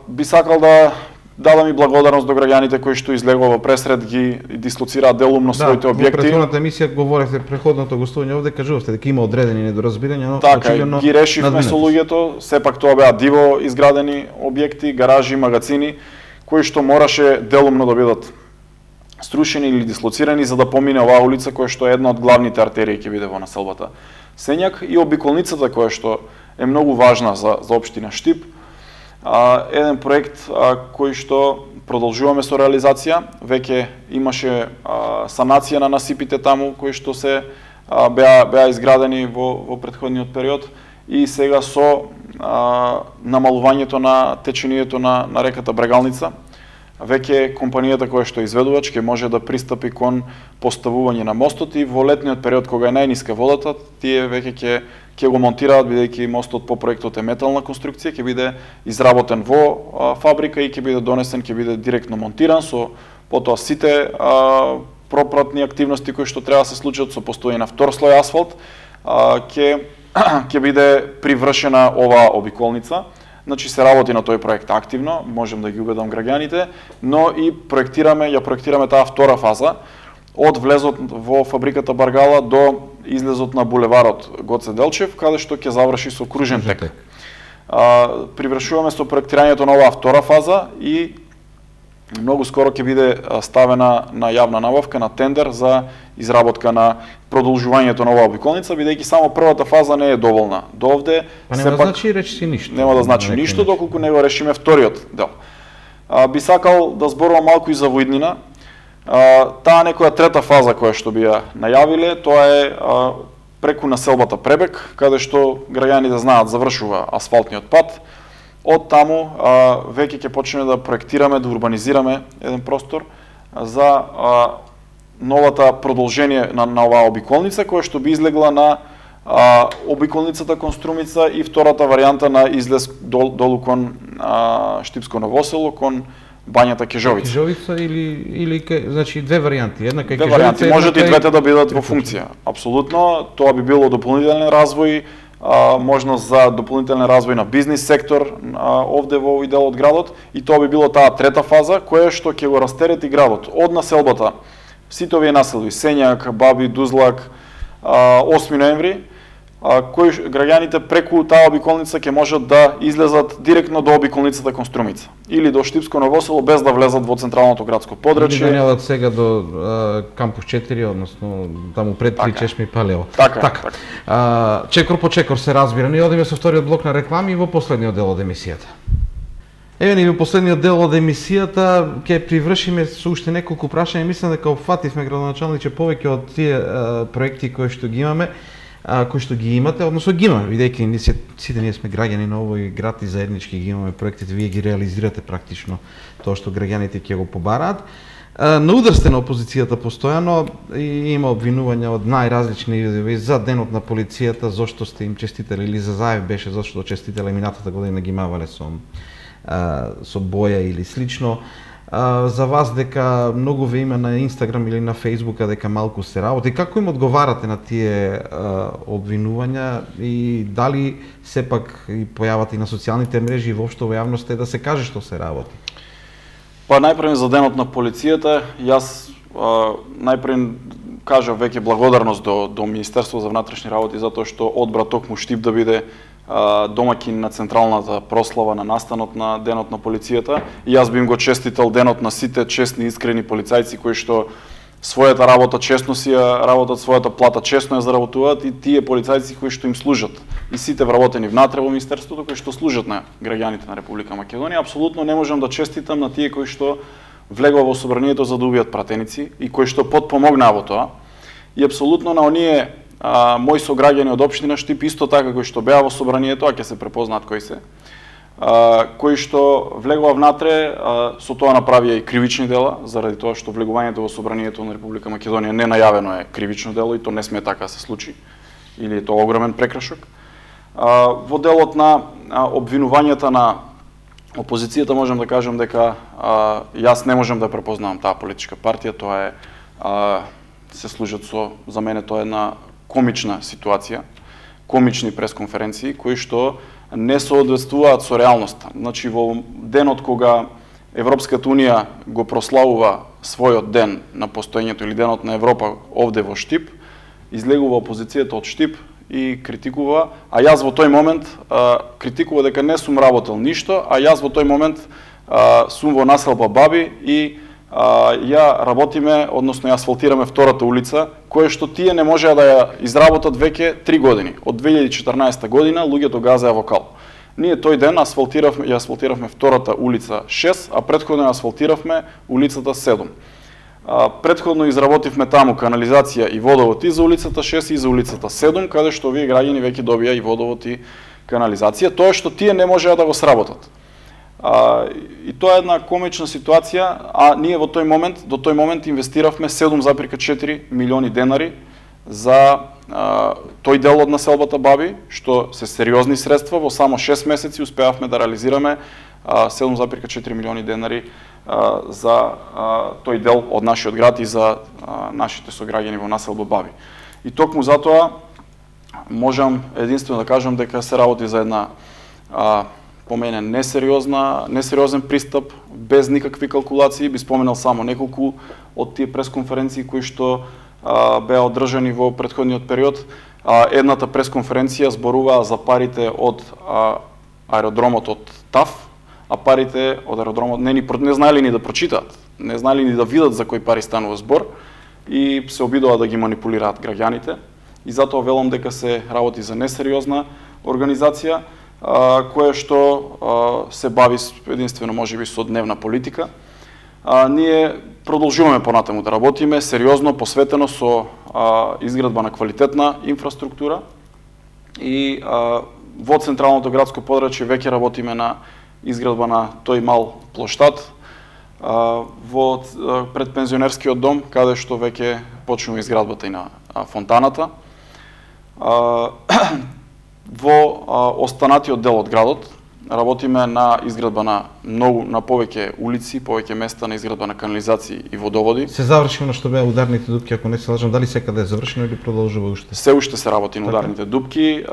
Би сакал да дадам и благодарност до граѓаните кои што излегува во пресред ги дислоцираат делумно своите објекти. Во претходната емисија говоревте, преходното гостување овде кажувавте дека има одредени недоразбирања, но така, ги решивме со луѓето, сепак тоа беа диво изградени објекти, гаражи, магазини, кои што мораше делумно да бидат струшени или дислоцирани за да помине оваа улица која што е една од главните артерии ќе биде во населбата Сењак и обиколницата која што е многу важна за општина Штип. Еден проект кој што продолжуваме со реализација, веќе имаше санација на насипите таму кои што се беа изградени во претходниот период и сега со намалувањето на течението на реката Брегалница, веќе компанијата која што е изведувач ќе може да пристапи кон поставување на мостот и во летниот период кога е најниска водата, тие веќе ќе го монтираат, бидејќи мостот по проектот е метална конструкција, ќе биде изработен во фабрика и ќе биде донесен, ќе биде директно монтиран со потоа сите пропратни активности кои што треба да се случат со постојање на втор слој асфалт, ќе биде привршена оваа обиколница. Значи се работи на тој проект активно, можем да ги убедам граѓаните, но и ја проектираме таа втора фаза од влезот во фабриката Баргала до излезот на булеварот Гоце Делчев, каде што ќе заврши со кружен тек. Привршуваме со проектирањето на оваа втора фаза и многу скоро ќе биде ставена на јавна набавка, на тендер за изработка на продолжувањето на оваа обиколница, бидејќи само првата фаза не е доволна. До овде нема да значи речиси ништо. Нема да значи ништо доколку не го решиме вториот дел. Би сакал да зборувам малку и за Воиднина. Таа некоја трета фаза која што би ја најавиле, тоа е преку населбата Пребек, каде што граѓаните знаат завршува асфалтниот пат. Од таму веќе ќе почнеме да проектираме, да урбанизираме еден простор за новата продолжение на оваа обиколница, која што би излегла на обиколницата кон Струмица и втората варијанта на излез долу кон Штипско Ново село, кон бањата Кежовица. Кежовица или значи две варијанти, една кај Кежовица. Две варијанти, можат и двете да бидат во функција. Апсолутно, тоа би било дополнителен развој, можност за дополнителен развој на бизнис сектор овде во овој дел од градот, и тоа би било таа трета фаза која што ќе го растерети градот од населбата. Сите овие населби, Сењак, Баби, Дузлак, 8 ноември, кои граѓаните преку таа обиколница ќе можат да излезат директно до обиколницата кон Струмица или до Штипско Ново село без да влезат во централното градско подрачје. Или да неодат сега до кампус 4, односно таму пред Три Чешми Палево. Така. Чекор по чекор се разбира. Ние одиме со вториот блок на реклами и во последниот дел од емисијата. Еве ни во последниот дел од емисијата ќе привршиме со уште неколку прашања. Мислам дека опфативме, градоначалниче, повеќе од тие проекти кои што ги имаме, кои што ги имате, односно ги имаме, бидејќи сите ние сме граѓани на овој град и заеднички ги имаме проектите, вие ги реализирате практично тоа што граѓаните ќе го побараат. На удар сте на опозицијата постојано и има обвинувања од најразлични видови за денот на полицијата, зошто сте им честители, или за Заев беше зошто честителе минатата година ги мавале со боја или слично. За вас дека многу ве има на Инстаграм или на Фејсбука дека малку се работи. Како им одговарате на тие обвинувања и дали сепак и појавата и на социјалните мрежи и воопшто во јавноста да се каже што се работи? Па најпрво за денот на полицијата, јас најпрво кажав веќе благодарност до Министерство за внатрешни работи затоа што одбра токму Штип да биде домаќин на централната прослава на настанот на денот на полицијата, и јас би им го честител денот на сите честни, искрени полицајци кои што својата работа честно си ја работат, својата плата честно ја заработуваат, и тие полицајци кои што им служат, и сите вработени внатре во Министерството кои што служат на граѓаните на Република Македонија. Апсолутно не можам да честитам на тие кои што влегува во собранието за да убијат пратеници и кои што потпомогнаа во тоа, и апсолутно на оние мои сограѓани од општина Штип исто така кои што беа во собранието, а ќе се препознаат кои се, кои што влегува внатре, со тоа направија и кривични дела, заради тоа што влегувањето во собранието на Република Македонија ненајавено е кривично дело и то не смее така да се случи, или е тоа огромен прекршок. Во делот на обвинувањата на опозицијата можам да кажам дека јас не можам да препознавам таа политичка партија, тоа е се служат за мене тоа е една комична ситуација, комични пресконференции кои што не соодветствуваат со реалноста. Значи во денот кога Европската унија го прославува својот ден на постоењето или денот на Европа овде во Штип, излегува опозицијата од Штип и критикува, а јас во тој момент критикува дека не сум работел ништо, а јас во тој момент сум во населба Баби и ја работиме, односно ја асфалтираме втората улица, која што тие не можеа да ја изработат веќе 3 години. Од 2014 година луѓето газеа во кал. Ние тој ден ја асфалтиравме втората улица 6, а претходно ја асфалтиравме улицата 7. Претходно изработивме таму канализација и водовод и за улицата 6 и за улицата 7, каде што овие граѓани веќе добија и водовод и канализација, тоа што тие не можеа да го сработат. И тоа е една комична ситуација, а ние до тој момент инвестиравме 7,4 милиони денари за тој дел од населбата Баби, што се сериозни средства, во само 6 месеци успеавме да реализираме 7,4 милиони денари за тој дел од нашиот град и за нашите сограѓани во населба Баби. И токму затоа можам единствено да кажам дека се работи за една по мене несериозен пристап, без никакви калкулации. Би споменал само неколку од тие пресконференции кои што беа одржани во претходниот период. Едната пресконференција зборуваа за парите од аеродромот од ТАФ, а парите од аеродромот не знаеле ни да прочитаат, не знаеле ни да видат за кои пари станува збор и се обидува да ги манипулираат граѓаните. И затоа велам дека се работи за несериозна организација, која што се бави единствено можеби со дневна политика. Ние продолжуваме понатаму да работиме сериозно, посветено со изградба на квалитетна инфраструктура и во централното градско подрачје веќе работиме на изградба на тој мал плоштад во предпензионерскиот дом, каде што веќе почнува изградбата и на фонтаната. во останатиот дел од градот работиме на изградба на повеќе улици, повеќе места на изградба на канализации и водоводи. Се заврши на што беа ударните дупки, ако не се лажам, дали секаде е завршено или продолжува уште? Се уште се работи на ударните дупки.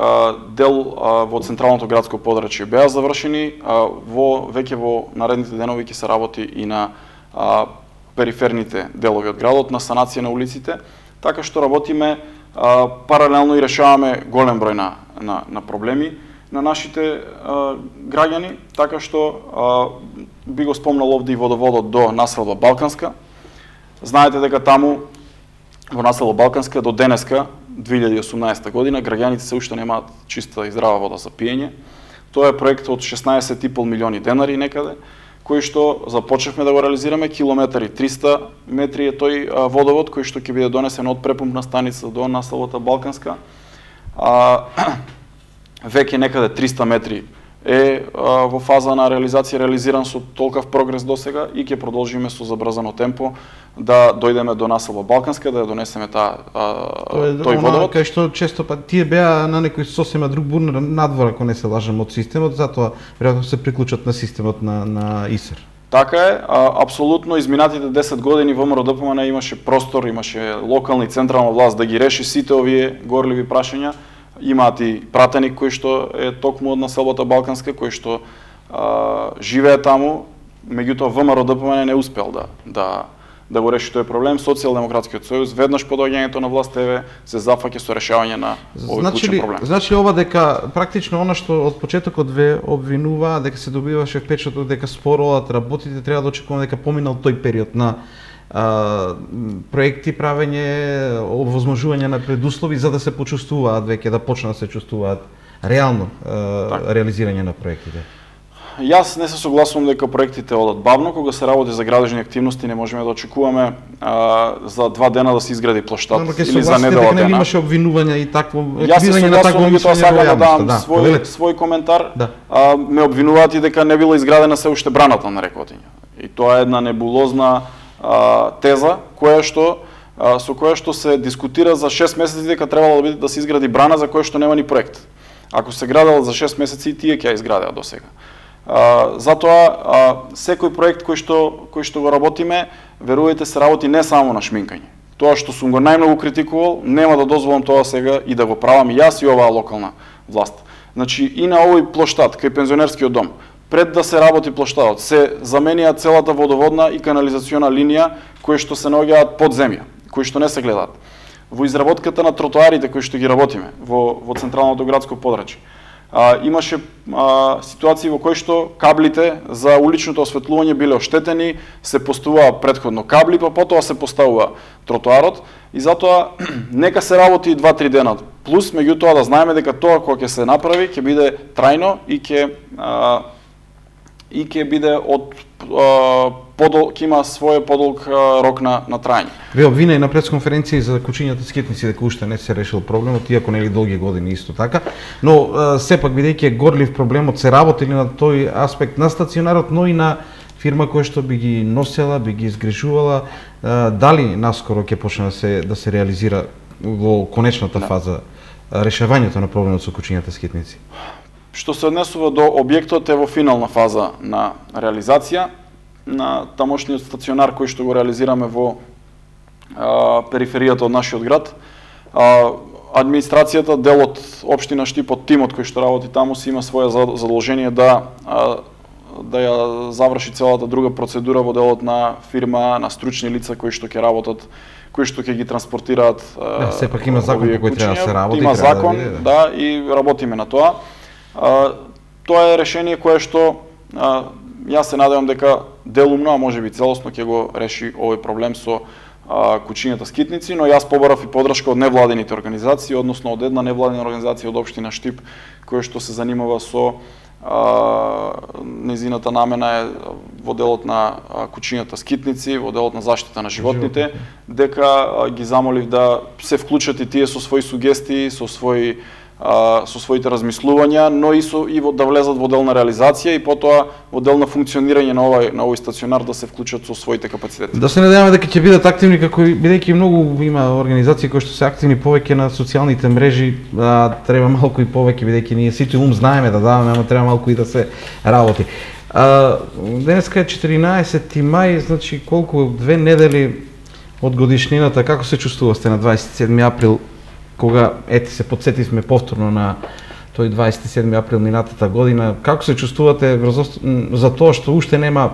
Дел во централното градско подрачје беа завршени, веќе во наредните денови ќе се работи и на периферните делови од градот, на санација на улиците, така што работиме паралелно и решаваме голем број на проблеми на нашите граѓани, така што би го спомнал овде и водоводот до населба Балканска. Знаете дека таму во населба Балканска до денеска, 2018 година, граѓаните се уште немаат чиста и здрава вода за пиење. Тоа е проект од 16,5 милиони денари некаде, кој што започнавме да го реализираме, километар и 300 метри е тој водовод кој што ќе биде донесен од препумпна станица до населбата Балканска. Веќе некаде 300 метри е во фаза на реализација, реализиран со толкав прогрес досега и ќе продолжиме со забрзано темпо да дојдеме до населба Балканска, да ја донесеме тој водовод. Кај што често тие беа на некој сосема друг бурнер надвор, ако не се лажам, од системот, затоа веројатно се приклучат на системот на ИСЕР. Така е, апсолутно изминатите 10 години ВМРО ДПМН имаше простор, имаше локална и централна власт да ги реши сите овие горливи прашања. Имаат и пратеник кој што е токму од населбата Балканска, кој што живее таму, меѓутоа ВМРО ДПМН не успел да го реши тој проблем. Социјалдемократскиот сојуз веднаш по доаѓањето на власт се зафаќа со решавање на овој клучен проблем. Значи ова дека практично она што од почетокот ве обвинува дека се добиваше впечаток дека споро одат работите, треба да очекуваме дека поминал тој период на проекти, правење, овозможување на предуслови за да се почувствуваат веќе, да почнат да се чувствуваат реално реализирање на проектите. Јас не се согласувам дека проектите одат бавно. Кога се работи за градежни активности, не можеме да очекуваме за 2 дена да се изгради плоштад или за недела дена. Имаше обвинувања и такво еквивалент на такво мислење. Јас сакам да дам свој коментар. Ме обвинуваат и дека не била изградена се уште браната на река Отиња. И тоа е една небулозна теза со која што се дискутира за 6 месеци дека требало да се изгради брана за која што нема ни проект. Ако се градела за 6 месеци, тие ќе ја изградеа досега. Затоа секој проект кој што го работиме, верувајте, се работи не само на шминкање. Тоа што сум го најмногу критикувал, нема да дозволам тоа сега и да го правам и јас и оваа локална власт. Значи и на овој плоштад кај пензионерскиот дом, пред да се работи плоштадот, се заменија целата водоводна и канализациона линија кои што се наоѓаат под земја, кои што не се гледаат. Во изработката на тротоарите кои што ги работиме во централното градско подрачје, имаше ситуации во кои што каблите за уличното осветлување биле оштетени, се поставува претходно кабли, па потоа се поставува тротоарот и затоа нека се работи 2-3 дена плюс, меѓутоа да знаеме дека тоа кога ќе се направи ќе биде трајно и ќе биде ќе има свој подолг рок на трајање. Ве обвина и на пресконференција за кучињата скитници дека уште не се решил проблемот, иако нели долги години исто така, но сепак бидејќи е горлив проблемот, се работи на тој аспект на стационарот, но и на фирма која што би ги носела, би ги изгрижувала, дали наскоро ќе почне да се реализира во конечната фаза решавањето на проблемот со кучињата скитници? Што се однесува до објектот е во финална фаза на реализација на тамошниот стационар кој што го реализираме во периферијата од нашиот град. Администрацијата, делот општина Штипот, тимот кој што работи таму си има свое задолжение да ја заврши целата друга процедура во делот на фирма, на стручни лица кои што ќе работат, кои што ќе ги транспортираат. Сепак има закон по кој треба да се работи. Има закон, да, и работиме на тоа. Тоа е решение кое што јас се надевам дека делумно, а можеби целосно ќе го реши овој проблем со кучињата скитници, но јас побарав и поддршка од невладините организации, односно од една невладина организација од општина Штип која што се занимава со незината намена е во делот на кучињата скитници, во делот на заштита на животните, дека ги замолив да се вклучат и тие со своји сугестии, со своји со своите размислувања, но и да влезат во дел на реализација и потоа во дел на функционирање на овој стационар да се вклучат со своите капацитети. Да се надеваме дека ќе бидат активни, како бидејќи многу има организации кои што се активни повеќе на социјалните мрежи, треба малку и повеќе бидејќи ние сите знаеме да даваме, ама треба малку и да се работи. Денеска е 14 мај, значи колку 2 недели од годишнината, како се чувствувате на 27 април, кога се подсетивме повторно на тој 27 април минатата година, како се чувствувате за тоа што уште нема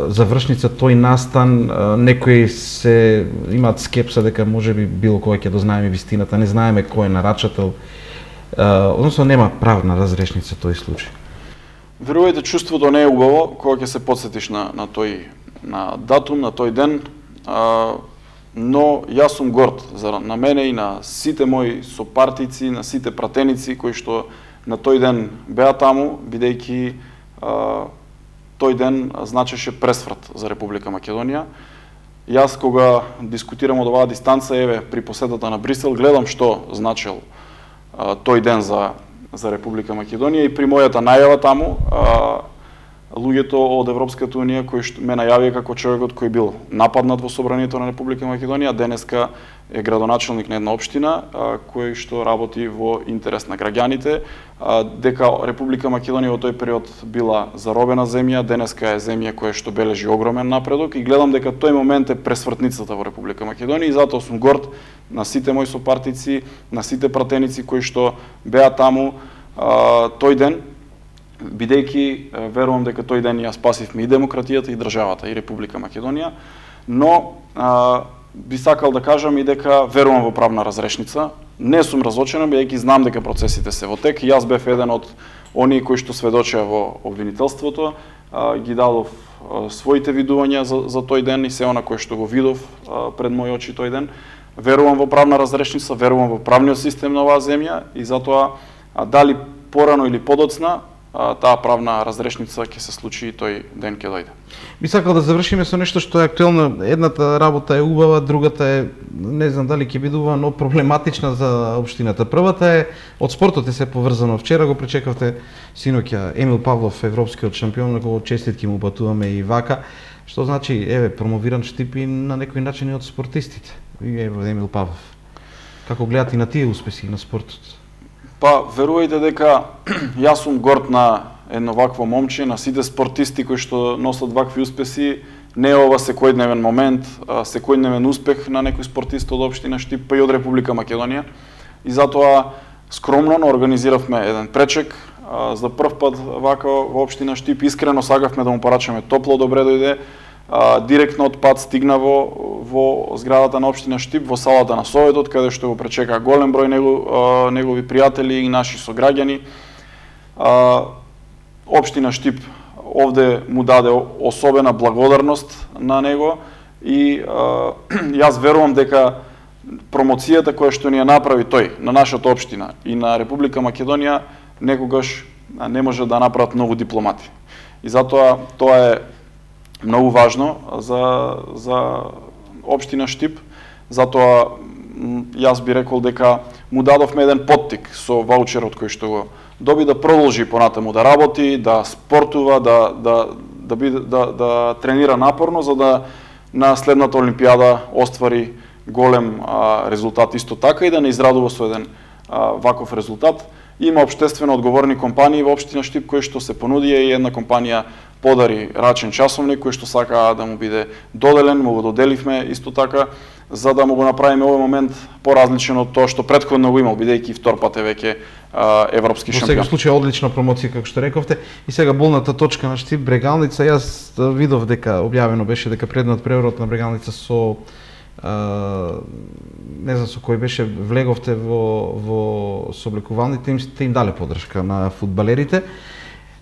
завршница тој настан, некои се имаат скепса дека можеби било кога ќе дознаеме вистината, не знаеме кој е нарачател, односно нема правна разрешница тој случај. Верувајте, чувството не е убаво кога ќе се подсетиш на тој датум, на тој ден, но јас сум горд на мене и на сите мои сопартици, на сите пратеници кои што на тој ден беа таму, бидејќи тој ден значеше пресврт за Република Македонија. Јас кога дискутирам од оваа дистанца, при посетата на Брисел, гледам што значел тој ден за Република Македонија и при мојата најава таму, луѓето од Европската унија кои што ме најавија како човекот кој бил нападнат во собранието на Република Македонија, денеска е градоначелник на една општина кој што работи во интерес на граѓаните, дека Република Македонија во тој период била заробена земја, денеска е земја која што бележи огромен напредок и гледам дека тој момент е пресвртницата во Република Македонија и затоа сум горд на сите мои сопартици, на сите пратеници кои што беа таму тој ден, бидејќи верувам дека тој ден ја спасивме и демократијата и државата и Република Македонија, но би сакал да кажам и дека верувам во правна разрешница. Не сум разочарен бидејќи знам дека процесите се во тек. Јас бев еден од оние кои што сведочеа во обвинителството, ги дадов своите видувања за тој ден и се она кое што го видов пред мои очи тој ден. Верувам во правна разрешница, верувам во правниот систем на оваа земја и затоа дали порано или подоцна таа правна разрешница ќе се случи и тој ден ќе дојде. Би сакал да завршиме со нешто што е актуелно. Едната работа е убава, другата е, не знам дали ќе биде убава, но проблематична за општината. Првата е, од спортот е се поврзано. Вчера го пречекавте синоќа Емил Павлов, европскиот шампион, на кого честитки му упатуваме и вака. Што значи, промовиран штип и на некој начин и од спортистите. Емил Павлов. Како гледате и на тие успеси на спортот? Па, верувајте дека јас сум горд на едно вакво момче, на сите спортисти кои што носат вакви успеси. Не е ова секојдневен момент, секојдневен успех на некој спортист од општина Штип, па и од Република Македонија. И затоа скромно организиравме еден пречек. За прв пат вака во општина Штип, искрено сакавме да му порачаме топло добре дојде. Директно од пат стигна во зградата на општина Штип, во салата на Советот, каде што го пречека голем број негови пријатели и наши сограѓани. Општина Штип овде му даде особена благодарност на него и јас верувам дека промоцијата која што ни ја направи тој на нашата општина и на Република Македонија некогаш не може да направат многу дипломати. И затоа тоа е многу важно за општина Штип, затоа јас би рекол дека му дадовме еден поттик со ваучерот кој што го доби да продолжи понатаму да работи, да спортува, да тренира напорно за да на следната олимпијада оствари голем резултат исто така и да не израдува со еден ваков резултат. Има општествено одговорни компании во општина Штип кои што се понудија и една компанија подари рачен часовник кој што сака да му биде доделен, му го доделивме исто така за да му го направиме овој момент поразличен од тоа што претходно го имал, бидејќи втор пат е веќе европски шампион. Во секој случај одлична промоција како што рековте. И сега болната точка на Штип Брегалница, јас видов дека објавено беше дека предниот преворот на Брегалница со не знам со кој беше влеговте во сооблекувалните, им дале поддршка на фудбалерите.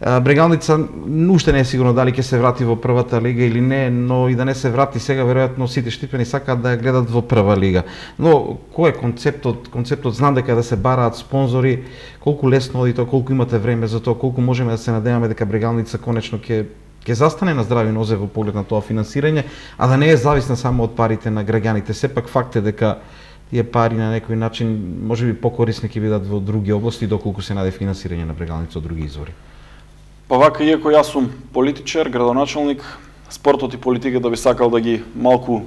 Брегалница уште не е сигурно дали ќе се врати во првата лига или не, но и да не се врати сега, веројатно сите штипени сакаат да ја гледат во прва лига. Но кој е концептот? Концептот знам дека да се бараат спонзори, колку лесно оди тоа, колку имате време за тоа, колку можеме да се надеваме дека Брегалница конечно ќе застане на здрави нозе во поглед на тоа финансирање, а да не е зависна само од парите на граѓаните. Сепак факт е дека тие пари на некој начин можеби покорисни ќе бидат во други области доколку се најде финансирање на Брегалница од други извори? Па вака, иако јас сум политичар, градоначалник, спортот и политиката би сакал да ги малку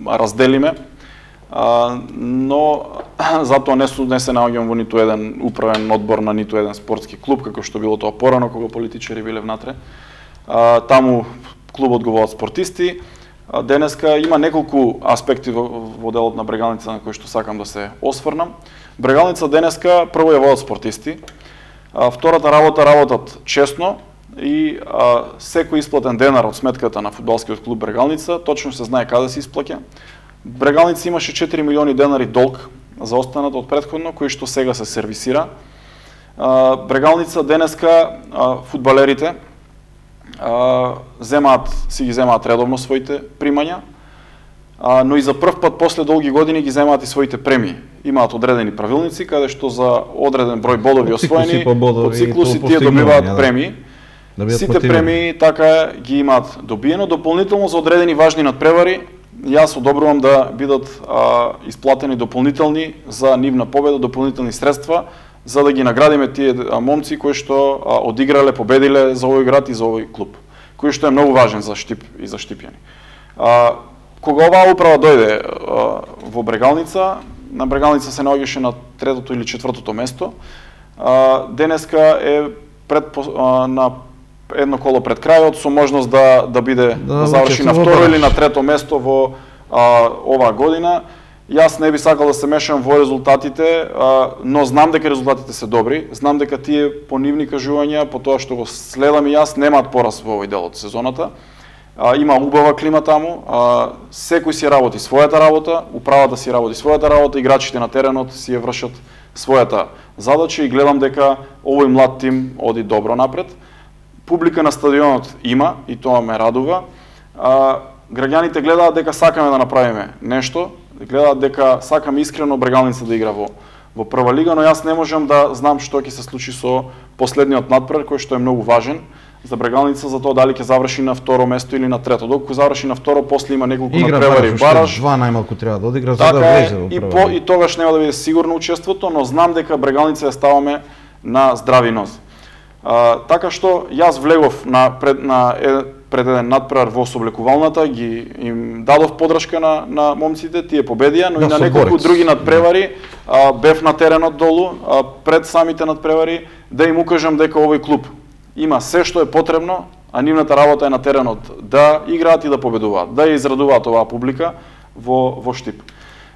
разделиме, но затоа не се наоѓам во ниту еден управен одбор на ниту еден спортски клуб, како што било тоа порано кога политичари биле внатре. Таму клубот го водат спортисти. Денеска има неколку аспекти во делот на Брегалница на кои што сакам да се осврнам. Брегалница денеска прво ја водат спортисти, втората работат честно и секој исплатен денар од сметката на фудбалскиот клуб Брегалница точно се знае каде се исплаќа. Брегалница имаше 4 милиони денари долг за останат од претходно, кој што сега се сервисира. Брегалница денеска фудбалерите си ги земаат редовно своите примања, но и за прв пат после долги години ги земаат и своите премии. Имаат одредени правилници каде што за одреден број бодови освоени по циклуси тие добиваат премии. Сите премии така ги имаат добиено, дополнително за одредени важни надпревари. Јас одобрувам да бидат исплатени дополнителни за нивна победа, дополнителни средства, за да ги наградиме тие момци кои што одиграле, победиле за овој град и за овој клуб, кој што е многу важен за Штип и за Штипјани. Кога оваа управа дојде во Брегалница, на Брегалница се наоѓаше на 3-то или 4-то место. Денеска е на едно коло пред крајот со можност да заврши на 2-то или на 3-то место во оваа година. Јас не би сакал да се мешам во резултатите, но знам дека резултатите се добри, знам дека тие по нивни кажувања, по тоа што го следам и јас, немаат пораз во овој дел од сезоната. Има убава клима таму, секој си работи својата работа, управата си работи својата работа, играчите на теренот си ја вршат својата задача и гледам дека овој млад тим оди добро напред. Публика на стадионот има и тоа ме радува. Граѓаните гледаат дека сакаме да направиме нешто, гледаат дека сакаме искрено Брегалница да игра во прва лига, но јас не можам да знам што ќе се случи со последниот надпревар кој што е многу важен за Брегалница, за тоа дали ќе заврши на 2-ро место или на 3-то. Доколку заврши на 2-ро, после има неколку надпревари бараж. Два најмалку треба да одигра за да влезе во прва. И тогаш нема да биде сигурно учеството, но знам дека Брегалница ја ставаме на здрави нозе. Така што јас влегов пред еден надпревар во соблекувалната, им дадов подршка на момците, тие победија, но и на неколку други надпревари бев на теренот долу, пред самите надпревари, да им укажам дека овој клуб има се што е потребно, а нивната работа е на теренот да играат и да победуваат, да ја израдуваат оваа публика во Штип.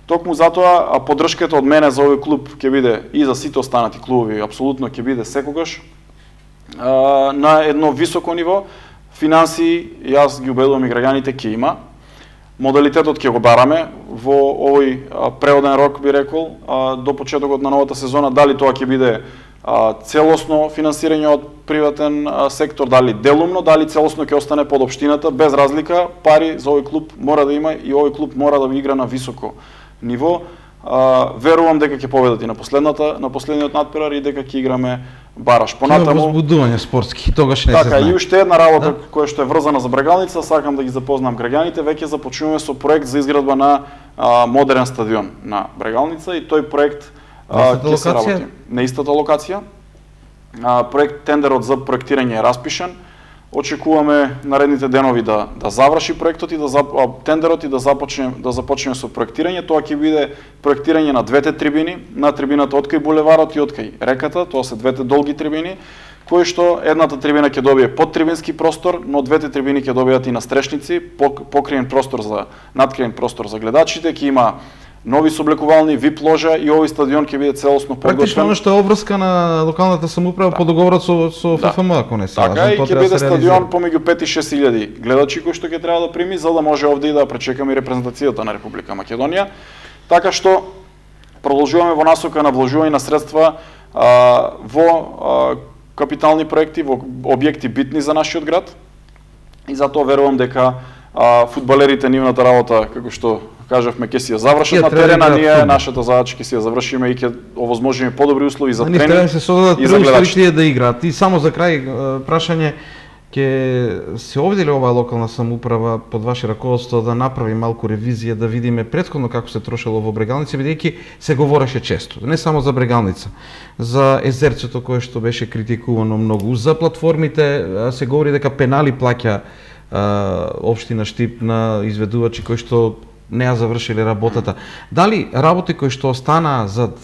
Токму затоа поддршката од мене за овој клуб ќе биде и за сите останати клубови, апсолутно ќе биде секогаш на едно високо ниво. Финансии, јас ги убедувам и граѓаните, ќе има. Модалитетот ќе го бараме во овој преоден рок, би рекол, до почетокот на новата сезона, дали тоа ќе биде целосно финансирање од приватен сектор, дали делумно, дали целосно ќе остане под општината, без разлика, пари за овој клуб мора да има и овој клуб мора да игра на високо ниво. Верувам дека ќе победат и на последниот надпревар и дека ќе играме бараш. Понатаму возбудување спортски, тогаш не се знае. Така, и уште една работа која што е врзана за Брегалница, сакам да ги запознам граѓаните, веќе започнуваме со проект за изградба на модерен стадион на Брегалница и тој проект ќе се работи на истата локација. Проект тендерот за проектирање е распишан. Очекуваме наредните денови да заврши проектот и тендерот и да започнеме со проектирање. Тоа ќе биде проектирање на двете трибини, на трибината од кај булеварот и од кај реката, тоа се двете долги трибини, кои што едната трибина ќе добие подтрибински простор, но двете трибини ќе добијат и настрешници, надкриен простор за гледачите, ќе има нови соблекувални, вип ложа и овој стадион ќе биде целосно подготвен. Практично оно што е обврска на локалната самоуправа по договорот со ФФМ, ако не се лажам. Така и ќе биде стадион помеѓу 5 и 6 илјади гледачи кои што ќе треба да прими, за да може овде и да пречекаме репрезентацијата на Република Македонија. Така што продолжуваме во насока на вложување на средства во капитални проекти, во објекти битни за нашиот град. И затоа верувам дека фудбалерите нивната работа, како што кажавме, ќе си ја завршат на терена, ние нашата задача ќе си ја завршиме и ќе овозможиме подобри услови за тренинг и за гледачите. Да играат. И само за крај прашање, ќе се обиделе оваа локална самоуправа под ваше раководство да направи малку ревизија, да видиме претходно како се трошело во Брегалница, бидејќи се говореше често, не само за Брегалница, за езерцето кое што беше критикувано многу, за платформите се говори дека пенали плаќа општина Штип на изведувачи кои што не ја завршиле работата. Дали работи кои што останаа зад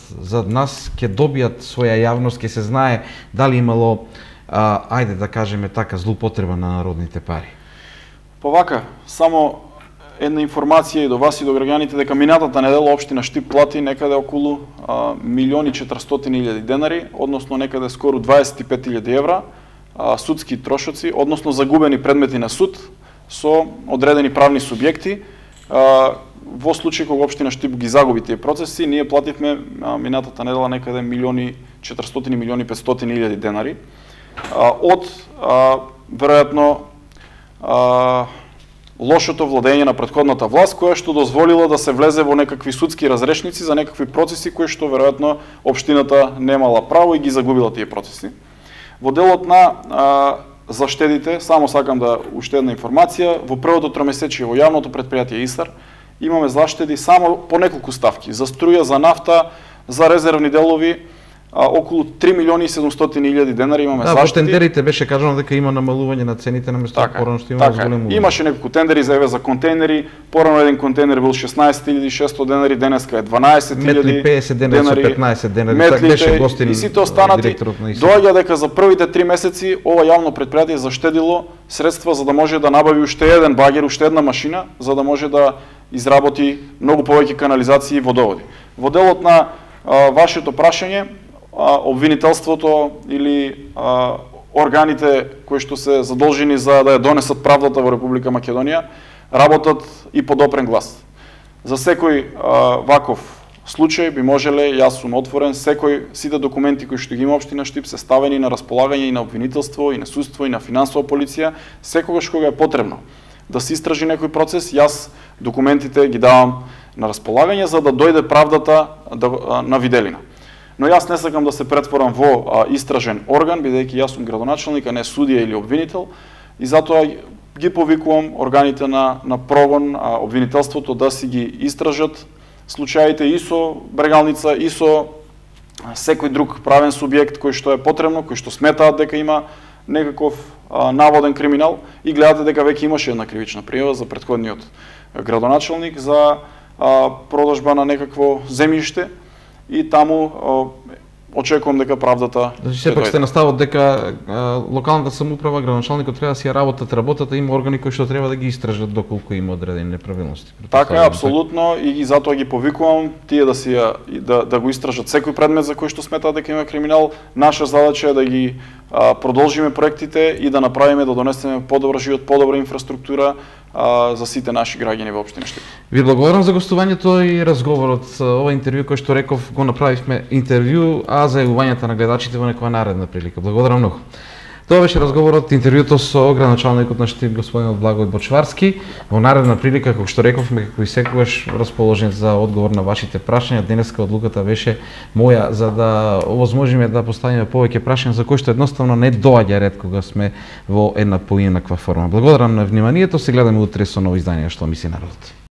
нас ќе добијат своја јавност, ќе се знае дали имало ајде да кажеме така злоупотреба на народните пари? Повака, само една информација и до вас и до граѓаните дека минатата недела општина Штип плати некаде околу 1.400.000 денари, односно некаде скоро 25.000 евра судски трошоци, односно загубени предмети на суд со одредени правни субјекти. Во случај кога општина Штип ги загуби тие процеси, ние плативме минатата недела некаде 1.400.000-1.500.000 денари од веројатно лошото владење на претходната власт, која што дозволила да се влезе во некакви судски разрешници за некакви процеси кои што веројатно општината немала право и ги загубила тие процеси. Во делот на заштедите, само сакам да уште една информација, во првото тромесечие во јавното претпријатие ИСАР имаме заштеди само по неколку ставки, за струја, за нафта, за резервни делови, околу 3.700.000 денари имаме заштеди. Во тендерите беше кажано дека има намалување на цените на место порано што има зголемување. Имаше неколку тендери за за контейнери, порано еден контейнер бил 16.600 денари, денеска е 12.000 метли 50 денари со 15 денари. Метлите, беше гостин и сите останати доаѓа дека за првите 3 месеци ова јавно претпријатие заштедило средства за да може да набави уште еден багер, уште една машина, за да може да изработи многу повеќе канализации и водоводи. Во делот на вашето прашање, обвинителството или органите кои што се задолжени за да ја донесат правдата во Република Македонија работат и под опрен глас. За секој ваков случај би можеле, јас сум отворен, сите документи кои што ги има општина Штип се ставени на располагање и на обвинителство, и на судство, и на финансова полиција, секогаш кога е потребно да се истражи некој процес, јас документите ги давам на располагање за да дојде правдата на виделина. Но јас не сакам да се претворам во истражен орган, бидејќи јас сум градоначелник, а не судија или обвинител, и затоа ги повикувам органите на прогон, обвинителството да си ги истражат случаите и со Брегалница, и со секој друг правен субјект кој што е потребно, кој што сметаат дека има некаков наводен криминал, и гледате дека веќе имаше една кривична пријава за претходниот градоначелник за продажба на некакво земјиште, и таму очекувам дека правдата Значи сепак сте на ставот дека локалната самоуправа, градоначалникот треба да си ја работата, има органи кои што треба да ги истражат доколку има одредени неправилности. Така е, апсолутно, и затоа ги повикувам тие да го истражат секој предмет за кој што сметаат дека има криминал. Наша задача е да ги продолжиме проектите и да направиме, да донесеме подобар живот, подобра инфраструктура за сите наши граѓани во општина Штип. Ви благодарам за гостувањето и разговорот. Ова интервју кој што реков го направивме интервју, а за јавувањето на гледачите во некоја наредна прилика. Благодарам многу. Тоа беше разговорот, интервјуто со градоначалникот на Штип господинот Благој Бочварски. Во наредна прилика, како што рековме, како и секогаш расположен за одговор на вашите прашања. Денеска одлуката беше моја за да овозможиме да поставиме повеќе прашања за кои што едноставно не доаѓа ред кога сме во една поинаква форма. Благодарам на вниманието, се гледаме утре со ново издание Што мисли народот.